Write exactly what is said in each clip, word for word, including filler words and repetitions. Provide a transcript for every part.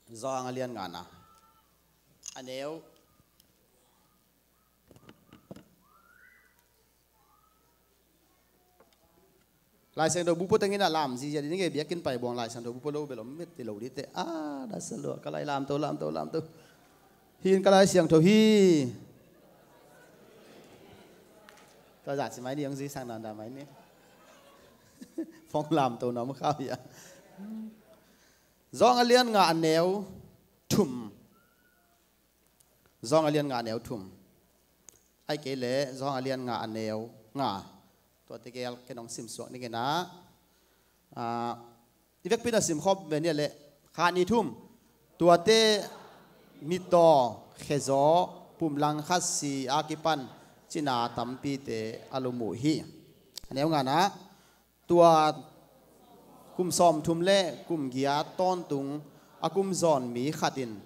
Johan a lian ngana, a neu. Lai Siangtho bu pua tengin a lam zizia ding e, biakinn pai buang Lai Siangtho bu pua lo bel om met ti lo dite. A, da sa lua, ka lai lamto, lamto, lamto. Hin ka Lai Siangtho hi. Tua zah ci mai ni, hong zui sang dan dan mai ni. Fong lamto na om khau hia. Johan a lian nga a neu thum. Johan a lian nga a neu thum. Ai kei le Johan a lian nga a neu nga. Tua tegel ken hong simsuak ning ina. Ah, i vekpi na simkhop ve nia le. Kha ni thum. Tuate mitaw, khezaw, pumlang khat si a kipan cina tampite a lum uh hi. A neu ngana. Tua kum sawmthum le kum giat tawntung a kum zawn mi khat in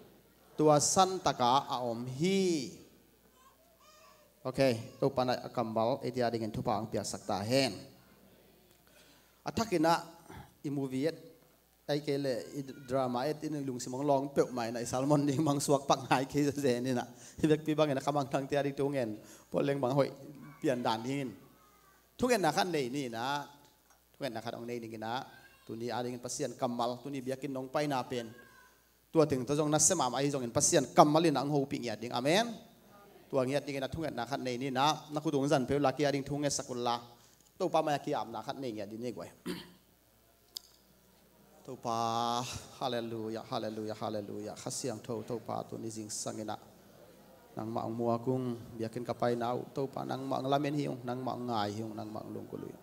tua santaka a om hi. Ok, Topa na a kammal ei tia dingin thupha ang piaksak ta hen. A thakin ah i movie et, ai kei le i drama et in i lungsim hong lawng peuhmah in ah i sermon ding mang suak pak ngai kei zen in ah. Hi vekpi bangin a khamang thang tia ding thungen. Paul leng bang hoih pian dan dingin. Thungetna khat nei ni in ah. Thungetna khat hong nei ding in ah. Tuni a dingin Pasian kammal, tuni biakinn nong paina pen. Tua teng tawh zong na sem am ahi zongin Pasian kammal in ah hong hopih ngiat ding. Amen. Tua ngiat dingin ah thungetna khat nei ni in ah. Na khut tung zan peuh la kia ding thungetsak un la. Topa mai a kiapna khat nei ngiat ding ni guai. Topa, halleluia, halleluia, halleluia. Kha Siangtho, Topa, tuni zingsang in ah. Nangmah hong muak ung, biakinn ka paina uh, Topa, nangmah hong lamen hi ung, nangmah hong ngai hi ung, nangmah hong lunggulh uh hi.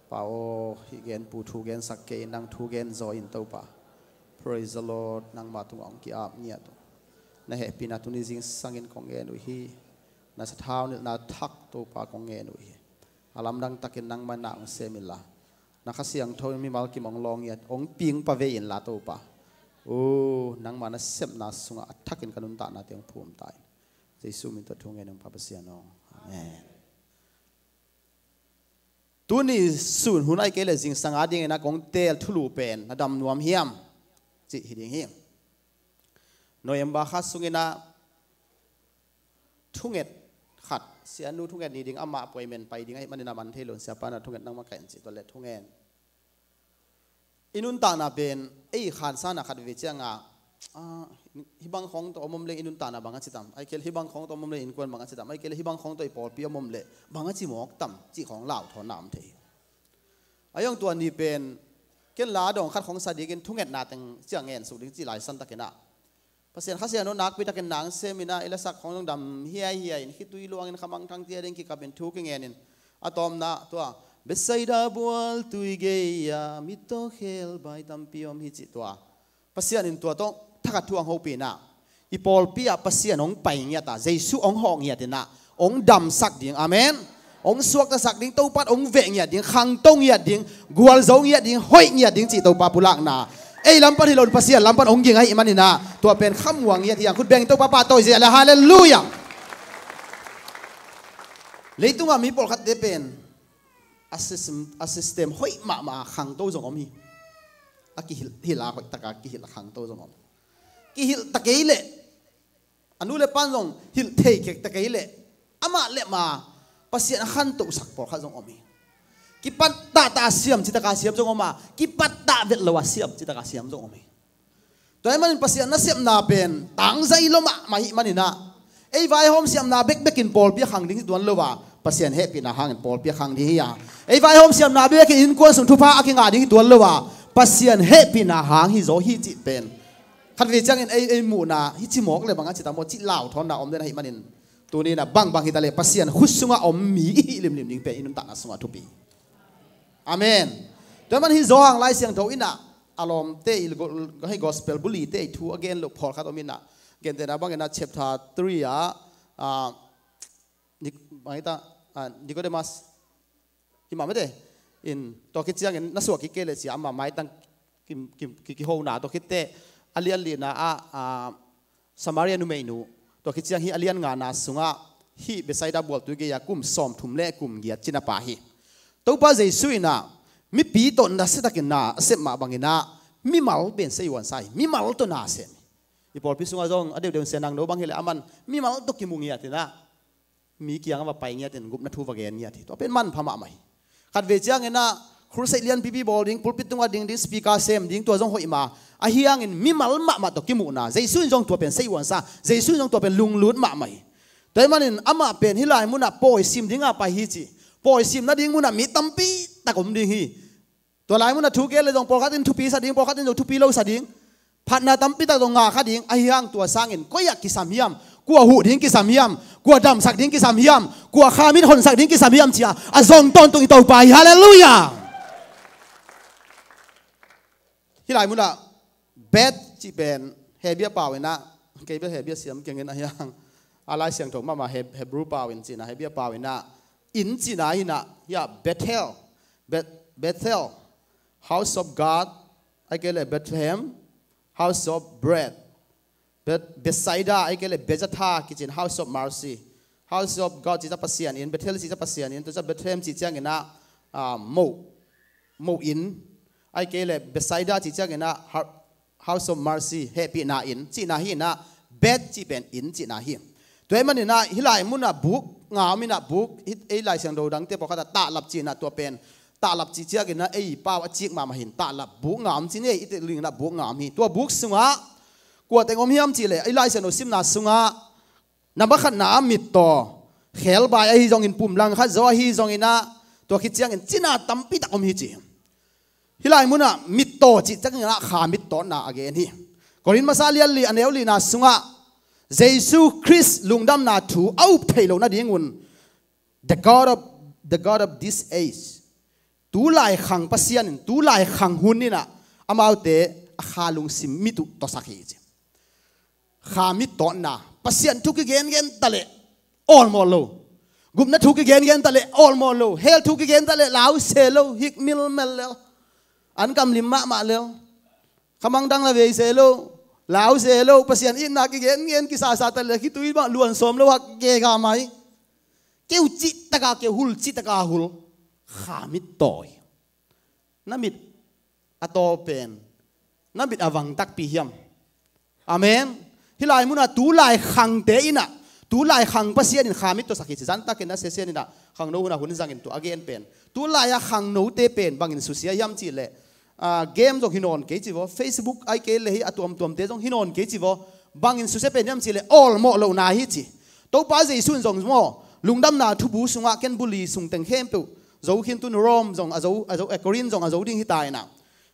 Pa aw, hih gen pu thu gensak kei, nang thu gen zaw in Topa. Praise the Lord, nangmah tungah hong ki-ap ngiat uh. Na hehpihna tuni zingsang in kong ngen uh hi. Na sathau nilhna thak Topa kong ngen uh hi. A lamdang takin nangmah na hong sem in la. Na Kha Siangtho in mimal kim hong lawng ngiat, hong ping pa ve in la Topa. O, nangmah na sepna sungah a thakin ka nuntakna te hong phum ta in. Jesu min tawh thu ngen ung Pa Pasian aw. Amen. Tuni sun hun ai kei le zingsang a dingin a kong teel thulu pen na dam nuam hiam? Cih hi ding hi. November kha sungin ah thunget khat, sianu thunget ni ding amah appointment pai ding ahih manin a man thei lo in siapa na thunget nangmah kaih in cih tua le thungen. I nuntakna pen ei khansana khat ve cianga, ah, hih bang khawng tawh om om leng i nuntakna bang a ci tam, ai kei le hih bang khawng tawh om om leng innkuan bang a ci tam, ai kei le hih bang khawng tawh i pawlpi om om leh bang a ci mawk tam cih khawng lauthawnna om thei hi. A iong tua ni pen ken la dawng khat khawng sa dingin thungetna teng ciang ngen suk ding cih lai san takin ah Pasian Kha Siangtho nakpi takin nang sem in ah i lasak khawng zong dam hiaihiai in khitui luangin khamang thang tia ding kikapin thu kingenin a tawmna tua Bethsaida bual tui gei-a mittaw khel bai tampi om hi cih tua Pasian in tua tawh thakhat thu ang hopih in ah i pawlpi ah Pasian hong pai ngiat a Jesu hong hawh ngiat in ah hong damsak ding. Amen. Hong suaktasak ding, Topa hong veh ngiat ding, khangto ngiat ding, gualzo ngiat ding, hoih ngiat ding cih Topa pulakna. Ei lam pan hi lo in Pasian lam pan hong ging ahih manin ah tua pen khamuang ngiat hi ang. Khut beng Topa pahtawi zia le halleluia. Leitungah mi pawlkhatte pen a system, a system hoih mahmah a khangto zong om hi. A kihilh, hilh a hoih taka kihilh a khangto zong om. Kihilh ta kei leh a nu le pan zong hilh thei kek ta kei leh amah le ma Pasian a khantohsak pawlkhat zong om hi. Kipat tahtah a siam citaka siam zong om a, kipat tah vet lo a siam citaka siam zong om hi. Tua ahih manin Pasian nasepna pen tangzai lua mahmah ahih manin ah ei vaihawm siamna bekbekin pawlpi a khang ding hi tuan lo a, Pasian hehpihna hangin pawlpi a khang ding hi a, ei vaihawm siamna bekbekin innkuan sung thupha a kingah ding hi tuan lo a, Pasian hehpihna hang hi zaw hi cih pen khat ve ciangin ei, ei muhna hi ci mawk le bang a ci tam aw cih lauthawnna om den ahih manin tuni in ah bangbang hi ta le Pasian khut sungah om mi i hih limlim ding pen i nuntakna sungah thupi. Amen. Tua man hi Johan Lai Siangtho in ah a lawmte i go-, hei gospel bulite i thu a gen loh pawlkhat om in ah, gentehna bangin ah chapter three ah, ah, Nic-, bang hi ta, ah, Nicodemus, hi mah mete in tua khit ciangin na suak kik kei leh cia ama maitang ki, ki, ki, kihona tua khitte a lian lina ah, ah, Samaria numeinu tua khit ciang hih a lian ngana sungah hih Bethsaida bualtui gei-a kum sawmthum le kum giat cina pa hi. Topa Jesu in ah mipi tawh nasiatakin na a sep mah bangin ah mimal pen sei uansa hi, mimal tawh na sem hi. I pawlpi sungah zong a deuhdeuh in Sia Nang No bang hileh a man mimal tawh kimu ngiat inah mi kiangah va pai ngiat in gupna thu va gen ngiat hi. Tua pen manpha mahmah hi. Khatvei cianginah crusade lianpipi bawl ding, pulpit tungah ding ding, speaker sem ding, tua zong hoih ma. Ahi hangin mimal mahmah tawh kimuhna Jesu in zong tua pen seihuansa, Jesu in zong tua pen lunglut mahmah hi. Tua ahih manin amah pen hih lai munah pawi sim dingah pai hi ci. Pawi sim nading munah mi tampi tak om ding hi. Tua lai munah thu gen le zong pawlkhat in thupi sa ding, pawlkhat in zong thupi lo sa ding. Phatna tampi tak zong ngah kha ding. Ahi hang tua sangin koi ah kisam hiam? Kua huh ding kisam hiam? Kua damsak ding kisam hiam? Kua khamit honsak ding kisam hiam ci-a a zong tawntung i Topa hi. Halleluiah. Hih lai munah bet cih pen Hebia pau inah, kei bel Hebia siam kengin ahi hang a Lai Siangtho mahmah Heb- Hebrew pau in cihna, Hebia pau inah inn cihna hinah, hiah Bethel, Bet- Bethel, house of God, ahih kei leh Bethlehem, house of bread, Bet- Bethsaida, ahih kei leh Bezatha kicin, house of mercy, house of God cih ca Pasian inn, Bethel cih ca Pasian inn, tua ca Bethlehem cih cianginah ah, moh, moh inn, ahih kei leh Bethsaida cih cianginah ha- house of mercy, hehpihna inn cihna hinah, bet cih pen inn cihna hi. Tua ahih maninah hih lai munah buk nga om inah, buk hih ei Lai Siangtho dangte pawlkhatah tahlap cihnah, tua pen tahlap cih cianginah ei pau a cik mahmah hin tahlap buk nga om ci ni, ei i telinginah buk nga om hi. Tua buk sungah kua teng om hiam cihleh ei Lai Siangtho simna sungah na makhatna ah mittaw, khelbai ahi zongin pum langkhat zaw ahi zonginah, tua khit ciangin cina tampi tak om hi ci. Hih lai munah mittaw cih cianginah kha mittawtna a gen hi. Korin masa lianli a neu lina sungah Jesu Khrist lungdamna thu a up theih loh nadingun the God of, the God of this age, tulai khang Pasian in, tulai khang hun inah amaute a kha lungsim mit uh tawsak hi ci. Kha mittawtna, Pasian thu kigengen taleh awlmawh lo. Gupna thu kigengen taleh awlmawh lo. Hell thu kigen taleh lau se lo, hik milmel lel. An kamlim mahmah lel. Khamang dang la vei se lo, lau se lo. Pasian itna kigengen kisasa taleh khitui mah luan sawm lo hak gega mai. Keu cihtaka keu, hul cihtaka hul. Kha mittawi. Na mit a taw pen na mit a vang takpi hiam? Amen. Hih lai munah tulai khangte inah, tulai khang Pasian in kha mittawsak hi ci. Zantakin a sesian inah khangno hunah hun zangin tua a gen pen, tulai-a khangnote pen bangin susia hiam cihleh, ah, game zong hi nawn kei ci vaw, Facebook ahih kei leh hih a tuamtuamte zong hi nawn kei ci vaw. Bangin susia pen hiam cihleh awlmawh lohna hi ci. Topa Jesu in zong maw lungdamna thubu sungah ken buli sung teng khempeuh zo khin, tun Rome zong a zo, a zo, eh, Korin zong a zo ding hi ta inah.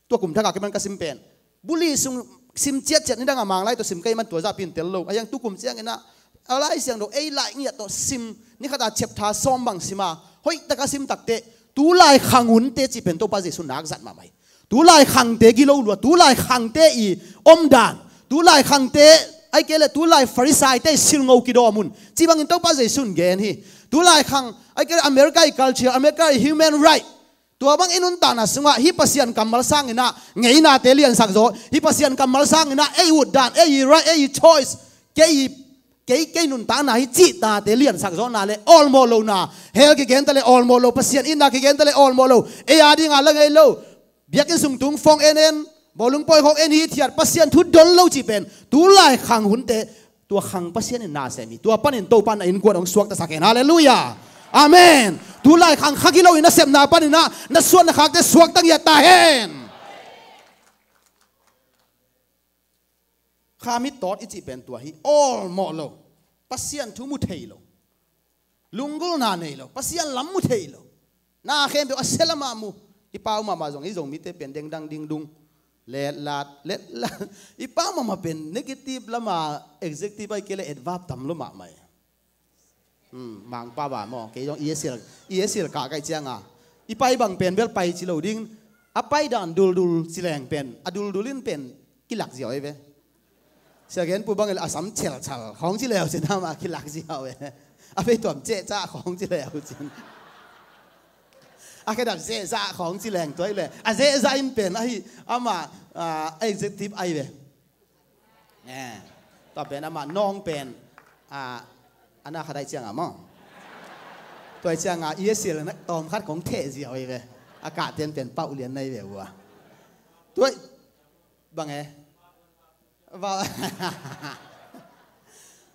Tua kum thakah kei man ka sim pen buli sung sim ciatciat, nidangah Manglai tawh sim kei man tua zahpi in tel lo. A hiang tukum cianginah a Lai Siangtho ei lai ngiat tawh sim, nikhatah chapter sawm bang sima hoihtaka sim takteh tulai khang hunte cih pen Topa Jesu nak zat mahmah hi. Tulai khangte gilo lua, tulai khangte i omdan, tulai khangte ahih kei leh tulai Farisaite i silngo kidawm un cih bangin Topa Jesu in gen hi. Tulai khang ahih kei leh America i culture, America i human right, tua bang i nuntakna sungah hih Pasian kammal sanginah ngeinate liansak zaw, hih Pasian kammal sanginah ei utdan, ei right, ei choice, kei, kei, kei nuntakna hi cihtate liansak zawhna le awlmawh lohna. Hell kigen taleh awlmawh lo, Pasian itna kigen taleh awlmawh lo. Ei a dinga la ngei lo. Biakinn sung tung phone en en, bawlung pawi khawng en hithiat, Pasian thu dol lo cih pen tulai khang hunte, tua khang Pasian in na sem hi. Tua panin Topa in a innkuan hong suaktasak hen. Halleluiah. Amen. Tulai khang kha gilo in a sepna paninah na suan na khakte suakta ngiat ta hen. Kha mittawt i cih pen tua hi. Awlmawh lo. Pasian thu mu thei lo. Lunggulhna nei lo. Pasian lam mu thei lo. Na khempeuh a sia lamah mu. I pau mahmah zong, i Zomite pen dengdang dingdung, letlat letlat. I pau mahmah pen negative lama adjective ahih kei leh adverb tam lo mahmah hi. Hmm, Mangpa ba maw, kei zong E S L, E S L kah kaih cianga i pai bang pen bel pai ci lo ding. A pai dan duldul ci leng pen, a duldul in pen kilak ziau ei ve. Sia Gen Pu bangin a sam chelchal khawng ci leu cin ama kilak ziau ei. A vei tuam cehcah khawng ci leu cin. A khedap zehzah khawng ci leng tua ei le. A zehzah in pen ahi ama, ah, adjective ai ve. Eh, tua pen amah nawng pen, ah, a na khat aih cianga maw. Tua aih cianga E S L na tawm khat kong theh ziau aih ve. A kahten pen pauh lian na aih ve ua. Tua aih bang e.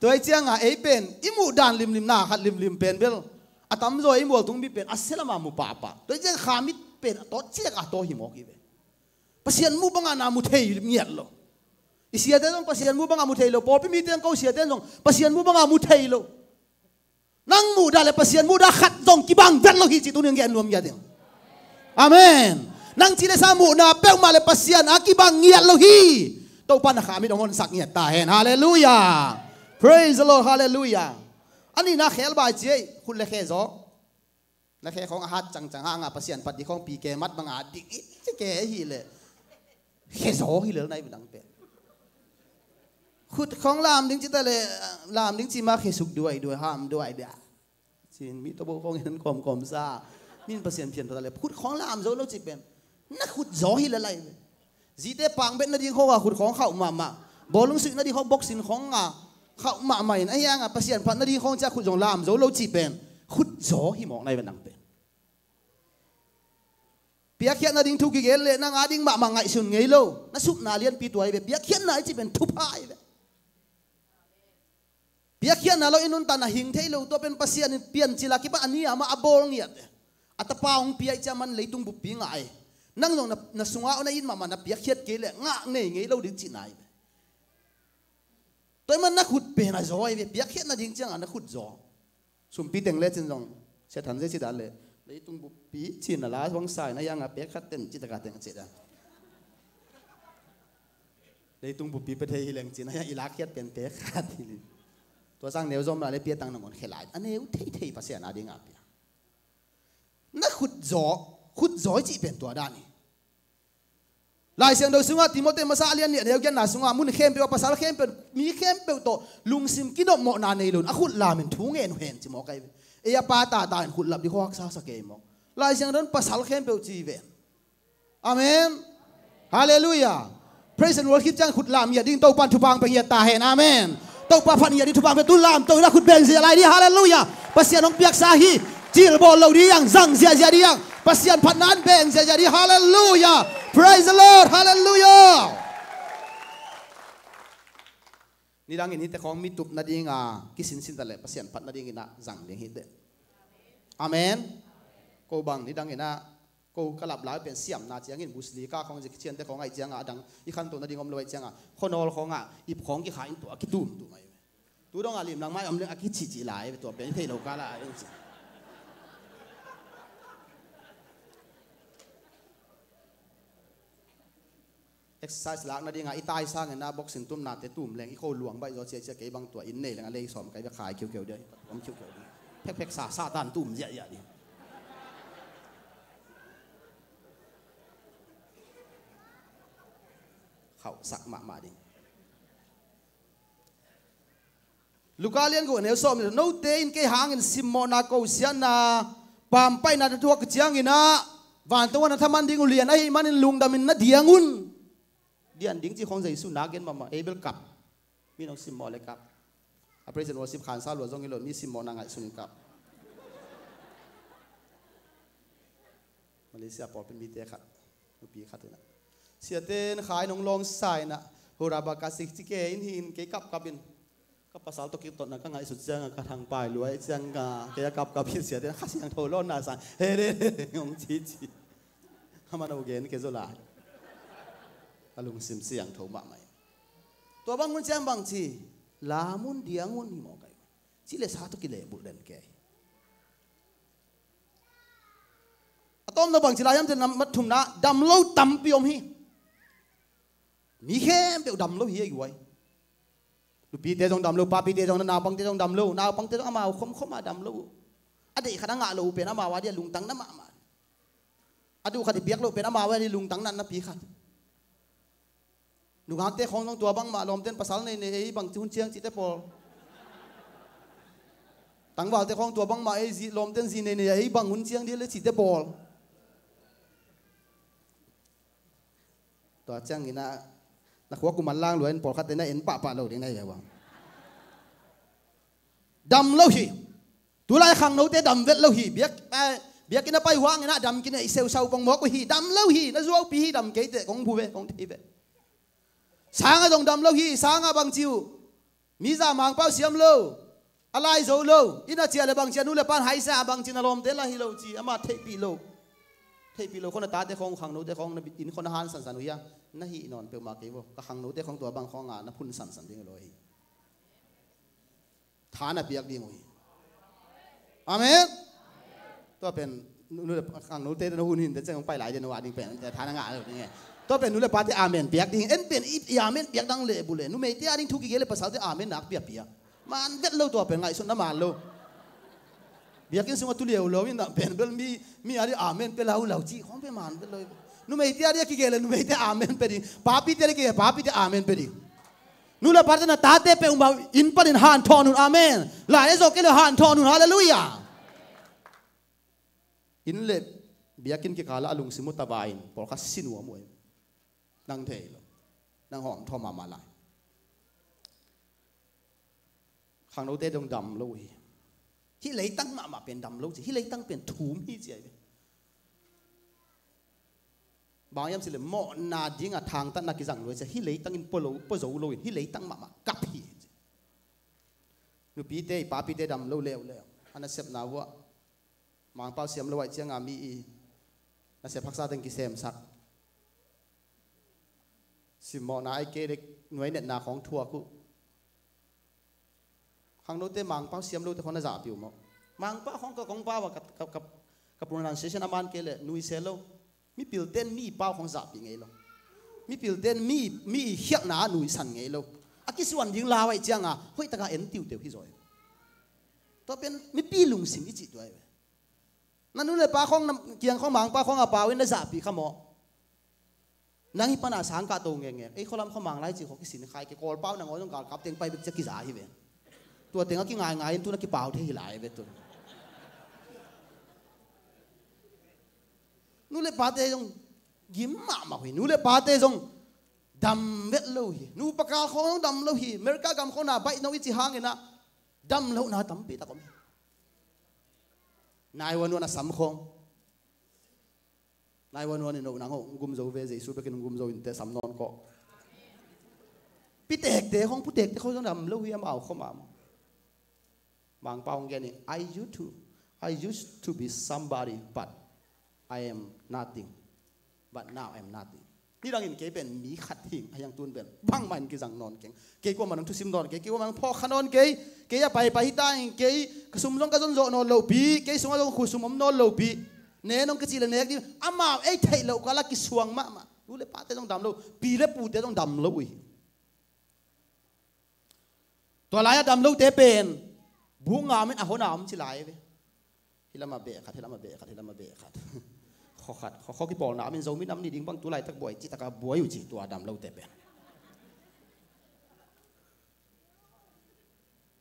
Tua hi cianga ei pen i muh dan limlim na khat limlim pen bel a tamzaw ei mualtung mi pen a sia lama mu pahpah. Tua hi cianga khamit pen a tawt ciak a tawh hi mawk hi ve. Pasian muh banga na mu thei ngiat lo. I siate zong Pasian muh banga mu thei lo. Pawlpi mite ko siate zong Pasian muh banga mu thei lo. Nang muhdah le Pasian muhdah khat zong kibang vet lo hi ci tunin gen nuam ngiat ding. Amen. Nang ci le sa muhna peuhmah le Pasian a kibang ngiat lo hi. Topa na khamit hong honsak ngiat ta hen. Halleluiah. Praise the Lord. Halleluiah. A nihna khelbai ci ei. Khut le khe zaw. Na khe khawng a hat cangcang hanga Pasian phat ding khawng pi ke mat banga dik i ci ke hi le. Khe zaw hi lel nai dang pen. Khut khawng lam ding ci ta le, lam ding ci ma khe suk duai duai ham duai dia. Cin mi tobo khawng in kawmkawm sa. Min Pasian phian ta le khut khawng lam zo lo ci pen. Na khut zaw hi lel lai. Zite pang bet nading khawng a khut khawng khauh mahmah. Bawlung suih nading khawng boxing khawng a khauh mahmah in a hianga Pasian phat nading khawng cia khut zong lam zo lo ci pen. Khut zaw hi mawk nai dang pen. Piakkhiatna ding thu kigen le nang a ding mahmah ngaihsun ngei lo. Na supna lianpi tua hi ve. Piakkhiatna i ci pen thupha hi ve. Piakkhiatna lo i nuntakna hing thei lo tua pen Pasian in piancil a kipan a ni a mah a bawl ngiat. A tapa hong pia i cia man leitung buppi ngah e. Nang zong na, na sunga na it mahmah na piakkhiat kei le ngah nei ngei lo ding cihna hi ve. Tua i man na khut pen a zaw hi ve. Piakkhiatna ding cianga na khut zaw. Sumpi teng le cin zong sia than zia ci dan le leitung buppi cin a la bang sa in a hianga pek khat ten ci taka teng ci dan. Leitung buppi pe thei hi leng cin a hiang i lakkhiat pen pek khat hi li. Tua sang neu zom la le pia tang nangon khe lai a neu thei thei Pasian a dinga pia. Na khut zaw, khut zaw i cih pen tua dan hi. Lai Siangtho sungah Timote masa a lian nih a neu giatna sungah mun khempeuh a pasal khempeuh mi khempeuh tawh lungsim kinopmawhna nei lo in a khut lam in thu ngen uh hen ci mawk ahi ve. Ei a pa tata in khut lap ding khawhak sasa kei mawk. Lai Siangtho in pasal khempeuh ci ven. Amen. Halleluiah. Praise and worship ciang khut lam ngiat ding Topan thupha pia ngiat ta hen. Amen. Topa phat ngiat ding thupha pia tu lam to ina khut beng zia lai ding. Halleluiah. Pasian hong piaksa hi. Cil bawl lo ding zang ziazia ding. Pasian phatna in beng ziazia ding. Halleluiah. Praise the Lord. Halleluiah. Nidangin hite khawng mi tup nadinga kisinsin ta le Pasian phat nadingin a zang ding hi te. Amen. Ko bang nidangin a ko ka lap lai pen siamna ciangin busli ka khawng zik ciante khawng aih cianga a dang i khanto nading om lo aih cianga khuanawl khawnga ip khawng kikha in tua kitum tum ahi. Tu dong a lim lang mai om leng a kici ci lai tua pen i thei lo ka la a ding ci. Exercise lakna dinga i tai sangin a boxing tumnate tum leng i kho luang baih zaw ciacia kei bang tua in nei leng a lei sawm kai bek khai khiukheu dia om khiukheu dia. Phekphek sa Satan tum ziahziah ding. Khauhsak mahmah ding. Luka lian guk a neu sawm nih, note in kei hangin simmawhna kosiatna pampaihna na thuak ciangin ah vantung a na thaman ding uh lian ahih manin lungdamin na diang un. Dian ding cih khawng Jesu nak gen mahmah, ei bel kap. Mi nong simmawh le kap. A praise and worship khansa lua zong hi lo, mi simmawhna ngaihsun in kap. Malaysia pawlpi mite khat, nupi khat in ah, siate in khai nong lawng sa in ah, hurabaka sik ci ke in hi in kei kapkap in. Ka pasal tawh kitotna ka ngaihsut ciangah ka thangpai luai ciangah kei a kapkap hi. Siate in Kha Siangtho lawnna sang he le le hong cici. Amah no gen kei zaw lai. Ka lungsim siangtho mahmah in. Tua bang hun ciang bang ci, lam un diang un hi mawk ai. Ci le sa tawh kilehbulh den kei. A tawmna bangci lai hiam cih leh, mat thumna, dam lo tampi om hi. Mi khempeuh dam lo hi a guai. Nupite zong dam lo, papite zong, naupangte zong dam lo, naupangte zong amau khomkhom a dam lo. A deih khat a ngah lo uh pen amau a dia lungtang na mahmah. A duh khat i piak lo uh pen amau a dia lungtang natnapi khat. Nungakte khawng zong tua bangmah lawmten pasal nei nei ei bang hun ciang cihte pawl. Tangvalte khawng tua bangmah ei zi, lawmten zi nei nei ei bang hun ciang dih le cihte pawl. Tua ciangin ah na khua kuman lang lua in pawlkhatte na en pahpah lo ding na hi ve bang. Dam lo hi. Tulai khangnote dam vet lo hi. Biak, eh, biakinn a pai huangin ah dam kinei seusau kong mawk uh hi. Dam lo hi. Na zuaupi hi dam keite kong bu ve, kong thei ve. Sangah zong dam lo hi, sangah bang ci uh. Mi za Mangpau siam lo, a lai zo lo, inn a ciah le bang ci a, nu le pan haisa bang ci, na lawmte lah hi lo ci, amah theihpih lo. Theihpih lo khawng na tate khawng, khangnote khawng na inn khawng na han sansan uh hia? Na hih nawn peuhmah kei vo, ka khangnote khawng tua bang khawngah na phun sansan ding lo hi. Tha na piak ding uh hi. Amen. Tua pen nu le khangnote na hun hin te ciang pai lai dia nu a ding pen tha na ngah lo ding e. Tua pen nu le pate amen piak ding. En pen i, i amen piak dang le bu le, numeite a ding thu kigel le pasalte amen nak piapia. Man vet lo, tua pen ngaihsutna man lo. Biakinn sungah tu liauliau in dah pen bel mi, mi a ding amen pia laulau cih khawng pen man vet lo. Numeite a ding a kigel le numeite amen pia ding. Papite a ding kigel, papite amen pia ding. Nu le pate na tate peuhmah inn panin hanthawn un. Amen. Lai a zawh kei le hanthawn un. Halleluiah. Inn le biakinn kikalah a lungsim uh tava in pawlkhat si nuam uh hi. Nang thei lo. Nang hawmthaw mahmah lai. Khangnote dong dam lo uh hi. Hih leitang mahmah pen dam lo ci. Hih leitang pen thum hi ci ahi ve. Bang hiam cih leh mawhna dingah thangtatna kizang lo hi ci a, hih leitang in pua lo, pua zo lo in, hih leitang mahmah kap hi ci. Nupite, i papite dam lo leuleu. A nasepna uh ah Mangpau siam lo ahih ciangah mi i nasep haksa teng kisemsak. Simmawhna ahih kei leh nuai netna khawng thuak uh. Khangnote Mangpau siam lote khawng na zahpih uh maw? Mangpau khawng ka kong pau a ka, ka, ka, ka pronunciation a man kei leh nuisel lo. Mipilte'n mi pau khawng zahpih ngei lo. Mipilte'n mi, mi i khialhna ah nuisan ngei lo. A kisuan ding lau ahih ciangah hoihtaka en tiuteu hi zaw hi. Tua pen mipi lungsim i cih tua hi ve. Na nu le pa khawng, na kiang khawng, Mangpau khawng a pau in na zahpih kha maw? Nang hih pana sang kah to ngekngek. Ei khualam khawng Manglai cih khawng kisin khai kei, Kawlpau nangawn zong galkap teng pai bek ciah kiza hi ve. Tua tengah kingaingai in tu na kipau thei hi lai ve tu. Nu le pate zong gim mahmah uh hi. Nu le pate zong dam vet lo hi. Nupa kal khawng zong dam lo hi. America gam khawng na baih no i cih hangin ah dam lohna tampi tak om hi. Nai wan wan a sam khawng. Nai wan wan in oh nang oh gum zo ve, Jesu bekin gum zo in te sam nawn kawh. Pitekte khawng, putekte khawng zong dam lo hi, amau khawm ah. Mangpau hong gen hi, I used to, I used to be somebody, but I am nothing. But now I am nothing. Nidangin kei pen mi khat hing, a hiang tun pen bangmah in kizang nawn keng. Kei kuamah nong thusim nawn kei, kei kuamah nong phawk kha nawn kei. Kei a paipai hi ta in kei, ka sum zong ka zon zawh nawn lopi, kei sungah zong khusum om nawn lopi. Ne nong ka cih le nek ding, amau ei theih loh kal a kisuang mahmah. Nu le pate zong dam lo, pi le pute zong dam lo uh hi. Tua lai-ah dam lote pen buk ngam in a hon a om ci lai ve. Hih lamah beh khat, hih lamah beh khat, hih lamah beh khat. Khaw khat, khaw, khaw kipawlna om in Zomi nam ni ding bang tu laitak buai cih takah buai uh ci tua dam lote pen.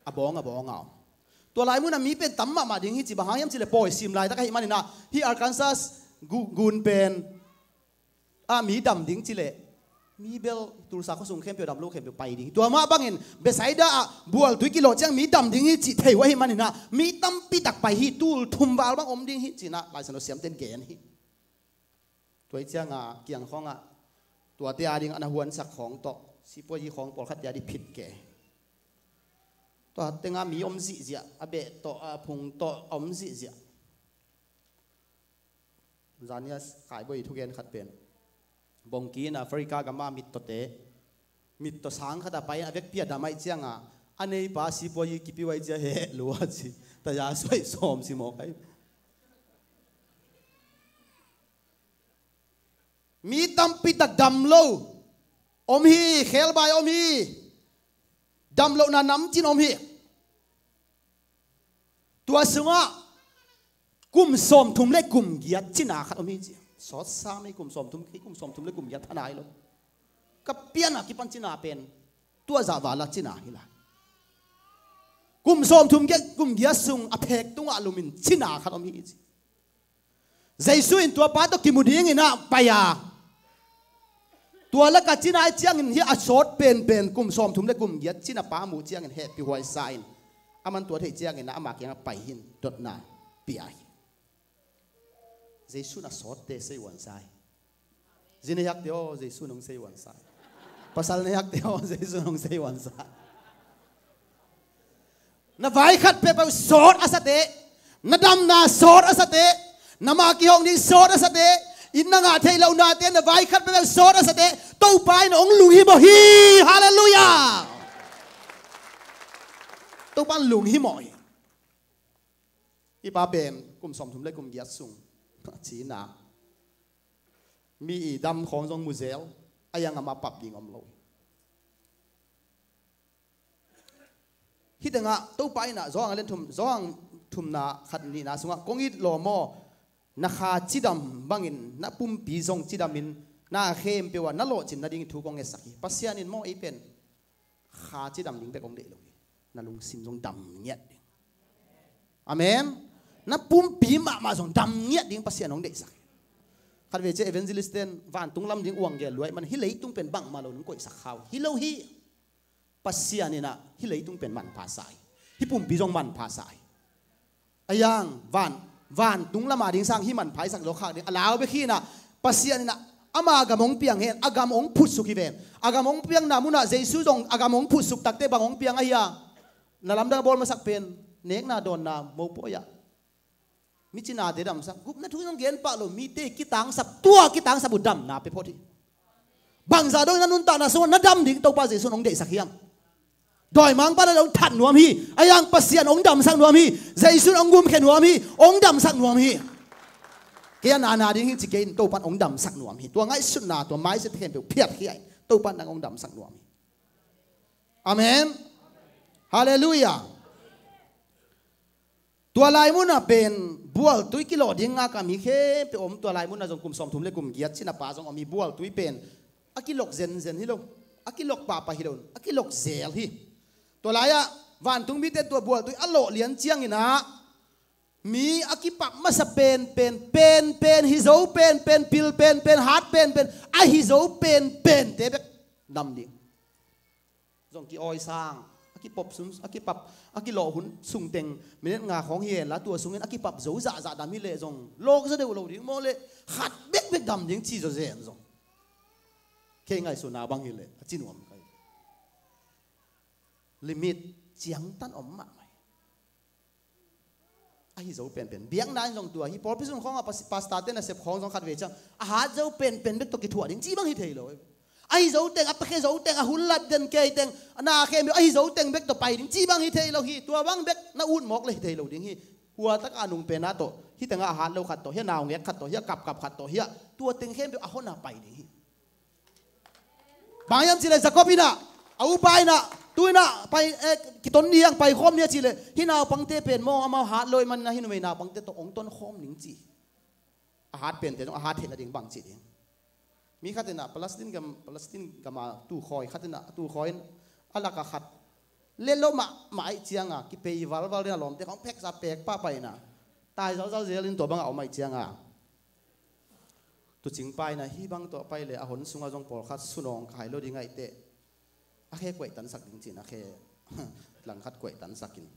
A bawng, a bawng a om. Tua lai munah mi pen tam mahmah ding hi ci, bang hang hiam cih leh pawi sim laitak ahih manin ah, hih Arkansas gu-, gun pen ah mi dam ding cih leh mi bel Tulsa khuasung khempeuh dam lo khempeuh pai ding hi. Tua mah bangin Bethsaida ah bual tui kilawh ciang mi dam ding hi cih thei uh ahih manin ah mi tampi tak pai hi, tul thum val bang om ding hi ci-in ah Lai Siangtho siamte'n gen hi. Tua hi ciangah kiang khawngah tuate a ding a na huansak khawng tawh sipuazi khawng pawlkhatte a ding phit kei. Tua tengah mi om zihziah, a beh tawh, a phung tawh a om zihziah. Zania Kaibuai thugen khat pen bongki in Africa gam a mittawte, mittaw sang khat a pai in a vekpi a dam ahih ciangah a neipa sipuazi kipi uh ahih ciang heh lua ci, taya suai sawm si mawk ahi. Mi tampi tak dam lo om hi, khelbai om hi, dam lohna namcin om hi. Tua sungah kum sawmthum le kum giat cina khat om hi ci. Sawt sam hi, kum sawmthum, kei kum sawmthum le kum giat tha nai lo. Ka pian a kipan cina pen tua zah vala cina hi lai. Kum sawmthum giat, kum giat sung a phek tungah lum in cina khat om hi ci. Jesu in tua pa tawh kimu dingin ah pai a, tua laka cina ahih ciangin hih a sawt penpen kum sawmthum le kum giat cina pa muh ciangin hehpih huai sa in, aman tua theih ciangin ah ama kiangah pai hi in dotna pia hi. Jesu in a sawtte seihuan sa hi. Zi nei hakte aw, Jesu in hong seihuan sa hi. Pasal na hiakte aw, Jesu in hong seihuansa. Na vai khat peuhpeuh sawt a sa teh, na damna sawt a sa teh, na ma kihong ding sawt a sa teh, inn na ngah theih lohnate na vai khat peuhpeuh sawt a sa teh, Topa in hong lunghimawh hi. Halleluiah. Topa in lunghimawh hi. Hih pa pen kum sawmthum le kum giat sung a cina. Mi i dam khawng zong mu zel, a hiang amah pap ding om lo hi. Hih tengah Topa in ah Johan a lian thum, Johan thumna khat nihna sungah, "Kong it lawm aw, na kha cidam bangin na pumpi zong cidamin, na khempeuh ah na lawhcin nading thu kong ngetsak hi." Pasian in maw ei pen kha cidam ding bek hong deih lo hi. Na lungsim zong dam ngiat ding. Amen. Na pumpi mahmah zong dam ngiat ding Pasian hong deihsak hi. Khatvei ciah evangelist ten vantung lam ding uang gel luai man, hih leitung pen bangmah lo nong koihsak kha uh hi lo hi. Pasian in ah hih leitung pen manpha sa hi. Hih pumpi zong manpha sa hi. A hiang van, vantung lam a ding sang hih manpha i sak zawk khak ding a lau bek hi in ah, Pasian in ah ama gam hong piang hen, a gam hong phutsuk hi ven. A gam hong piangna munah Jesu zong a gam hong phutsuk takteh bang hong piang ahi a? Na lamdang a bawl masak pen nekna dawnna mopawi ah mi cinate damsak, gupna thu in hong gen pah lo, mite kitangsap, tua kitangsap uh damna pia phot hi. Bangzah dong in na nuntakna sungah na dam ding Topa Jesu in hong deihsak hiam? Dawimangpa na hong that nuam hi. A hiang Pasian hong damsak nuam hi. Jesu in hong gumkhia nuam hi. Hong damsak nuam hi. Kei a nana ding hi ci kei in, Topa in hong damsak nuam hi. Tua ngaihsutna, tua mindset khempeuh phiatkhia in, Topa in nang hong damsak nuam hi. Amen. Halleluiah. Tua lai munah pen bualtui kilawh ding ngak a mi khempeuh om. Tua lai munah zong kum sawmthum le kum giat cina pa zong om hi. Bualtui pen a kilok zenzen hi lo, a kilok pahpah hi lo, a kilok zel hi. Tua lai-ah vantung mite tua bualtui a lawh lian ciangin ah mi a kipap masa penpen, penpen, hi zo penpen, pil penpen, hat penpen, a hi zo penpente bek dam ding. Zong ki-awi sang, a kipop sun, a kipap, a kilawh hun sungteng minute nga khawng hi henla, tua sungin a kipap zo zahzah dam hileh zong lawk zaw deuh lo ding maw leh, khat bekbek dam ding ci zawzen zong. Kei ngaihsutna bang hileh a ci nuam kai. Limit ciangtan om mahmah hi. A hi zo penpen. Biakna in zong tua hi. Pawlpi sung khawngah pas-, pastor te nasep khawng zong khatvei ciang a hat zo penpen bek tawh kithuah ding ci bang hi thei lo. A hi zo teng, a pekhe zo teng, a hun lat den kei teng, a na khem a hi zo teng bek tawh pai ding ci bang hi thei lo hi. Tua bang bek na ut mawk le hi thei lo ding hi. Hua taka nung penna tawh, hi tengah a hat lo khat tawh, hi a naungek khat tawh, hi a kapkap khat tawh, hi a tua teng khempeuh a hona pai ding hi. Bang hiam cihleh Jacob in ah, a upa in ah, tu in ah pai, eh, kiton ni hiang, pai khawm ni a cihleh, hih naupangte pen maw, amau hat lo ahih manin ah hih numei naupangte tawh hong ton khawm ning ci. A hat pente zong a hat theih nading bang ci ding. Mi khat in ah Palestine gam, Palestine gam a tukhawi khat in ah, tukhawi in a lak a khat let lo mahmah ahih ciang a, kipei valval ding a lawmte khawng pheksa pek pahpah in ah, tai zalzal zel in tua bang a om ahih ciang a, tuucing pa in ah hih bang tawh pai leh a hon sungah zong pawlkhat sunawng khai lo ding ahih teh, a khe kuaihtansak ding ci-in a khe langkhat kuaihtansak in,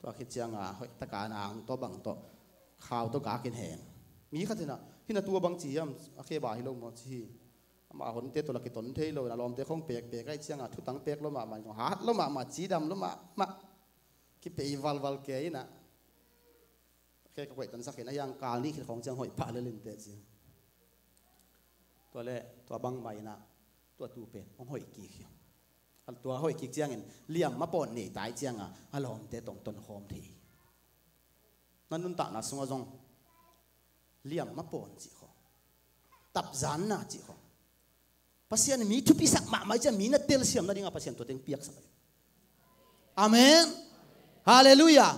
tua khit ciang a hoih taka nang tawh bang tawh khau tawh gak in hen. Mi khat in ah, hih na tu a bang ci hiam, a khe ba hi lo maw ci hi. Amah a honte tawh la kiton thei lo in a lawmte khawng pekpek ahih ciang a thutang pek lo mahmah, hat lo mahmah, cidam lo mahmah, kipei valval kei in ah, khe ka kuaihtansak in a hiang kal nih khit khawng ciang hoih pah lel in teh ci. Tua leh tua bangmah in ah tua tu pen hong hoih kik hi. Tua hoih kik ciangin liam mapawn nei tai ciang a, a lawmte tawh hong ton khawm thei hi. Na nuntakna sungah zong liam mapawn cih khawng, tapzanna cih khawng, Pasian in mi thupisak mahmah ahih ciang mi na telsiam nading a Pasian tua teng piaksak ahi. Amen. Halleluiah.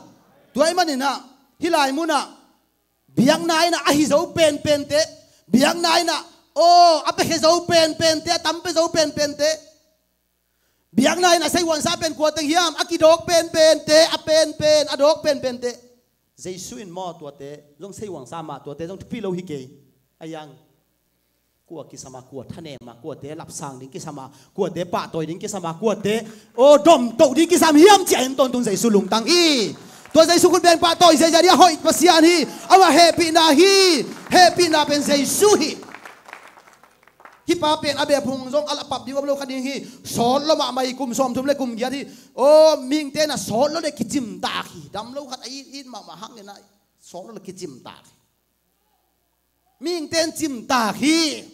Tua ahih manin ah hih lai mun ah biakna in ah a hi zo penpente, biakna in ah, aw, a pekhe zo penpente, a tam pia zo penpente, biakna in a seihuansa pen kua teng hiam, a kidawk penpente, a penpen a dawk penpente, Jesu in maw tuate zong seihuansa mah, tuate zong thupi lo hi kei. A hiang kua kisam a, kua thanem a, kuate lapsang ding kisam a, kuate pahtawi ding kisam a, kuate, aw, domtoh ding kisam hiam ci-a en tawntung Jesu lungtang hi. Tua Jesu khut beng pahtawi ziahziah ding a hoih Pasian hi. Amah hehpihna hi. Hehpihna pen Jesu hi. Hih pa pen a beh phung zong a la pap ding om lo kha ding hi. Sawt lo mahmah hi, kum sawmthum le kum giat hi. Aw, mihingte na sawt lo le kicimtak hi. Dam lo khat a it, it mahmah hang ina sawt lo le kicimtak hi. Mihingte in cimtak hi.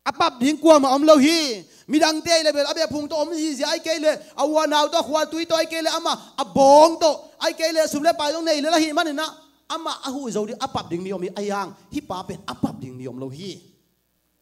A pap ding kuamah om lo hi. Midangte ahi le bel a beh phung tawh om zihziah, ahih kei le a u a nau tawh, a khua tui tawh, ahih kei le amah a bawng tawh, ahih kei le sum le pai zong nei lel ahih manin ah amah a huh zo ding, a pap ding mi om hi. Ahi hang hih pa pen a pap ding mi om lo hi.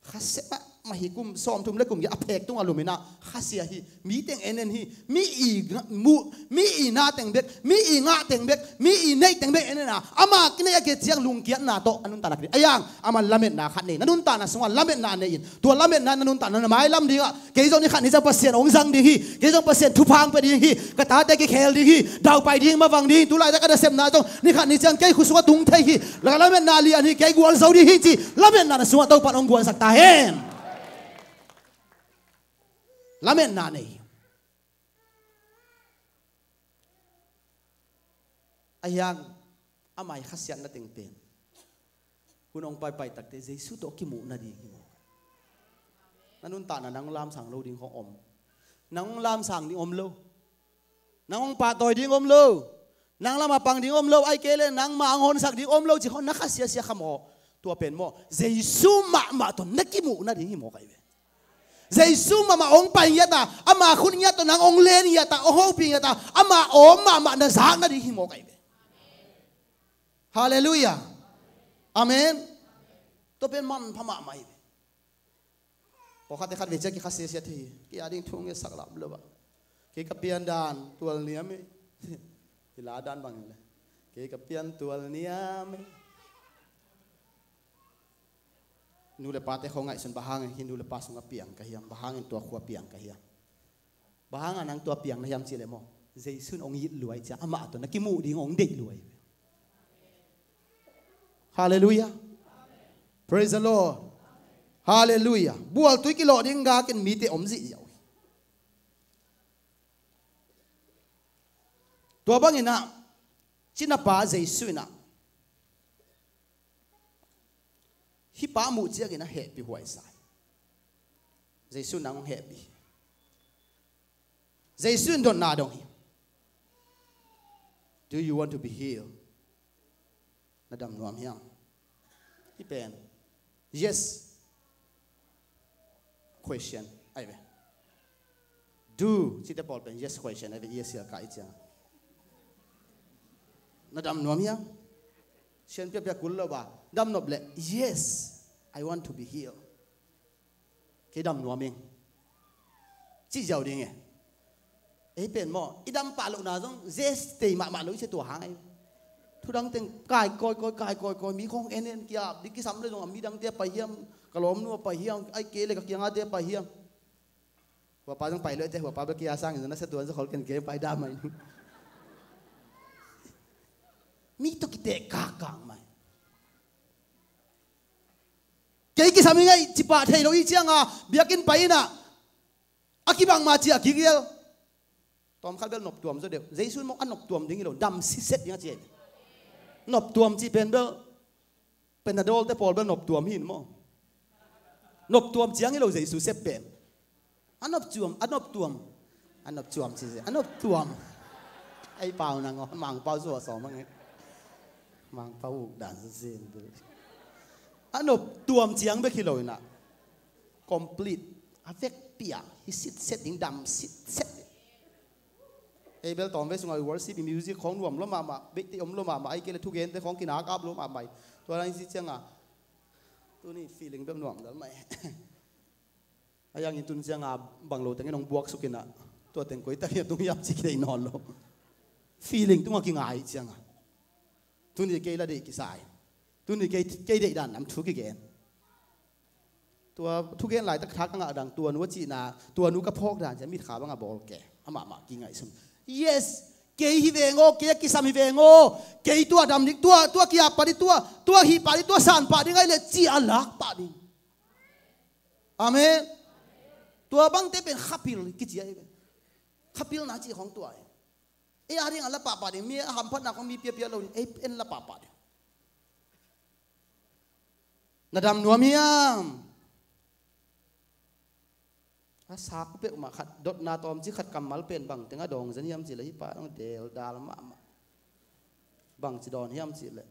Khasia mahmah hi, kum sawmthum le kum giat a phek tungah lum ina khasia hi. Mi teng en en hi. Mi i ngah, mu, mi i na teng bek, mi i ngah teng bek, mi i neih teng bek en en a, ama kineih a kiat ciang lungkiatna tawh a nuntakna kineih. Ahi hang aman lametna khat nei. Na nuntakna sungah lametna nei in, tua lametna na nuntakna na mailam dingah kei zong ni khat ni ciang Pasian hong zang ding hi. Kei zong Pasian thupha hong pia ding hi. Ka tate kikhel ding hi. Daupai ding, mavang ding hi. Tulaitak ka nasepna zong ni khat ni ciang kei khut sungah tung thei hi. Lametna lian hi. Kei gualzo ding hi ci lametna na sungah Topa'n hong guansak ta hen. Lametna nei hi. Ahi hang ama i khasiatna teng pen hun hong paipai takte Jesu tawh kimuh nading hi mawk. Na nuntakna nang lamsang lo ding khong om. Nang lamsang ding om lo. Nang hong pahtawi ding om lo. Nang lamah pang ding om lo. Ahih kei le nangmah hong honsak ding om lo cih khong na kha siasia kha maw? Tua pen maw, Jesu mahmah tawh na kimuh nading hi mawk ahi ve. Jesu mahmah hong pai ngiat a, ama khut ngiat tawh nang hong len ngiat a, hong hopih ngiat a, ama awm mahmah na zak nading hi mawk ahi ve. Halleluiah. Amen. Tua pen manpha mahmah hi ve. Pawlkhatte khatvei ciang kikha siasia thei hi. Kei a ding thu ngetsak lam lo a, kei ka pian dan tual niam hi. Hi la dan bang hi le, kei ka pian tual niam hi. Nu le pate khong ngaihsun, bang hangin hih nu le pa sungah piang ka hiam? Bang hangin tua khua piang ka hiam? Bang hangin nang tua piang na hiam cih leh maw, Jesu in hong it lua ahih ciang amah tawh na kimuh ding hong deih lua hi. Halleluiah. Praise the Lord. Halleluiah. Bualtui kilawh ding gak in mite om zihziah uh hi. Tua bangin ah, cinapa Jesu in ah, hih pa muh ciangin a hehpih huai sa hi. Jesu in nang hong hehpih hi. Jesu in dotna dong hi. Do you want to be healed? Na dam nuam hiam? Hih pen yes question ahi ve. Do cihte pawl pen yes question ahi ve. Yes, sial ka i ciang, na dam nuam hiam? Sian piapia kul lo ba, dam nop leh, yes, I want to be healed. Kei dam nuam ing, cih ziau ding e. Ei pen maw, i dam pah lohna zong zestei mahmah lo i cia, tua hang ei. Thudang teng kai kawikawi, kai kawikawi, mi khong en en, kiap ding kisam le zong a midangte a pai hiam, ka lawmnu a pai hiam, ahih kei le ka kiangate a pai hiam. Huapa zong pai lo ei te, huapa bek kia sangin zong na sia tuan zong khol ken kei pai dam mai. Mi tawh kiteh kakak mai. Kei kisam hi ngai, cipah thei lo i cianga biakinn pai inah, a kibang ma cia a kigial. Tawmkhat bel noptuam zaw deuh. Jesu in maw a noptuam ding hi lo, dam sitset ding a ci hi. Noptuam cih pen bel Panadol te pawl bel noptuam hi in maw. Noptuam ciang hi lo Jesu sep pen. A noptuam, a noptuam. A noptuam ci se, a noptuam. Ei pau nang aw, Mangpau suah sawm a ngei. Mangpau uk dan sa sin tu. A noptuam ciang bek hi lo inah, complete, a vekpi-a hi sitset ding, dam sitset ding. Ei bel tawmvei sungah worship, music khong nuam lo mahmah, beihte om lo mahmah, ahih kei le thugente khong kinakap lo mahmah hi. Tua dan i cih cianga tuni feeling bek nuam dal mah hi. A yang in tun cianga bang lo tengin hong buaksuk inah, tua teng koi tak hi a tung hiam ci kideih nawn lo. Feeling tungah kingai cianga, tuni kei la deih kisa in, tuni kei, kei deih dan lam thu kigen. Tua thugen laitak thak a ngah dang, tua nu a cihna, tua nu ka phawk dan ciang mitkha bangah bawl ke, amahmah kingaihsun. Yes, kei hi veng aw, kei a kisam hi veng aw, kei tua dam ding, tua, tua kiap pah ding, tua, tua hih pah ding, tua san pah ding ahih leh ci a lak pah ding. Amen. Tua bangte pen khapil kici ahi ve. Khapilna cih khong tua hi. Ei a ding a la pahpah ding, mi a hamphatna khong mi piapia lo ding, ei en la pahpah ding. Na dam nuam hiam? A sak peuhmah khat, dotna tawmcik khat kammal pen bang teng a dawng zen hiam cih leh hih pa dong deldal mahmah. Bangci dawn hiam cih leh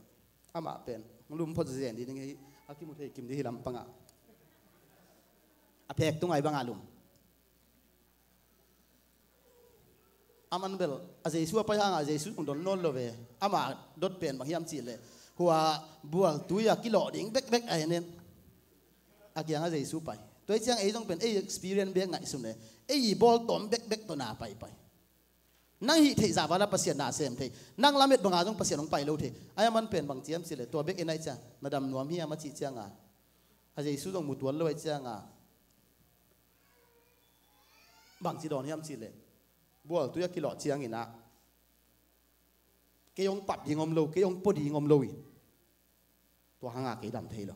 amah pen lum phot zen ding hi, a kimu thei kim ding hi lampangah. A phek tung ai bangah lum. Aman bel a Jesu a pai hangah a Jesu zong don nawn lo ve. Amah dot pen bang hiam cih leh hua bual tui a kilawh ding bekbek a en en. A kiangah Jesu pai. Tua hi ciang ei zong pen ei experience bek ngaihsun e. Ei i bawl tawm bekbek tawh na paipai. Nang hih theih zah vala Pasian na sem thei. Nang lamet banga zong Pasian hong pai lo thei. Ai aman pen bang ciam cih leh tua bek en ai ciang na dam nuam hiam a cih cianga a Jesu zong mu tuan lo ai cianga bangci dawn hiam cih leh bual tui a kilawh ciangin ah kei hong pap ding om lo, kei hong pua ding om lo hi. Tua hanga kei dam thei lo.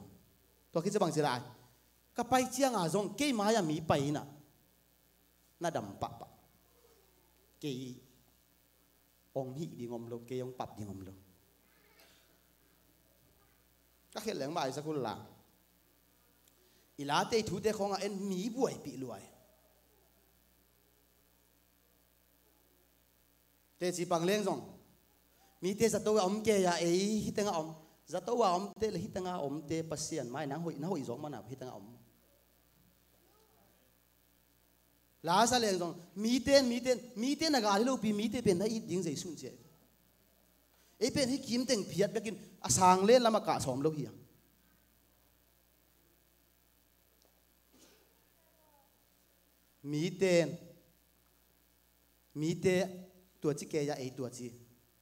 Tua khit ciang bangci lai ka pai cianga zong kei mai-ah mi pai inah na dam pahpah. Kei hong hih ding om lo, kei hong pap ding om lo. Ka khet leng maisak hul la i late i thute khawngah en mi buaipih luai. Teci pang leng zong mite zato a om kei a ei hih tengah om. Zato a omte le hih tengah omte Pasian mai nang hoih, na hoih zawk mana hih tengah om. Lasa leng zong miten, miten, miten a gal hi lopi mite pen na it ding Jesu in ci a. Ei pen hih kim teng phiat bekin a sang len lamah kah sawm lo hiam? Miten, mite tuaci kei a ei tuaci.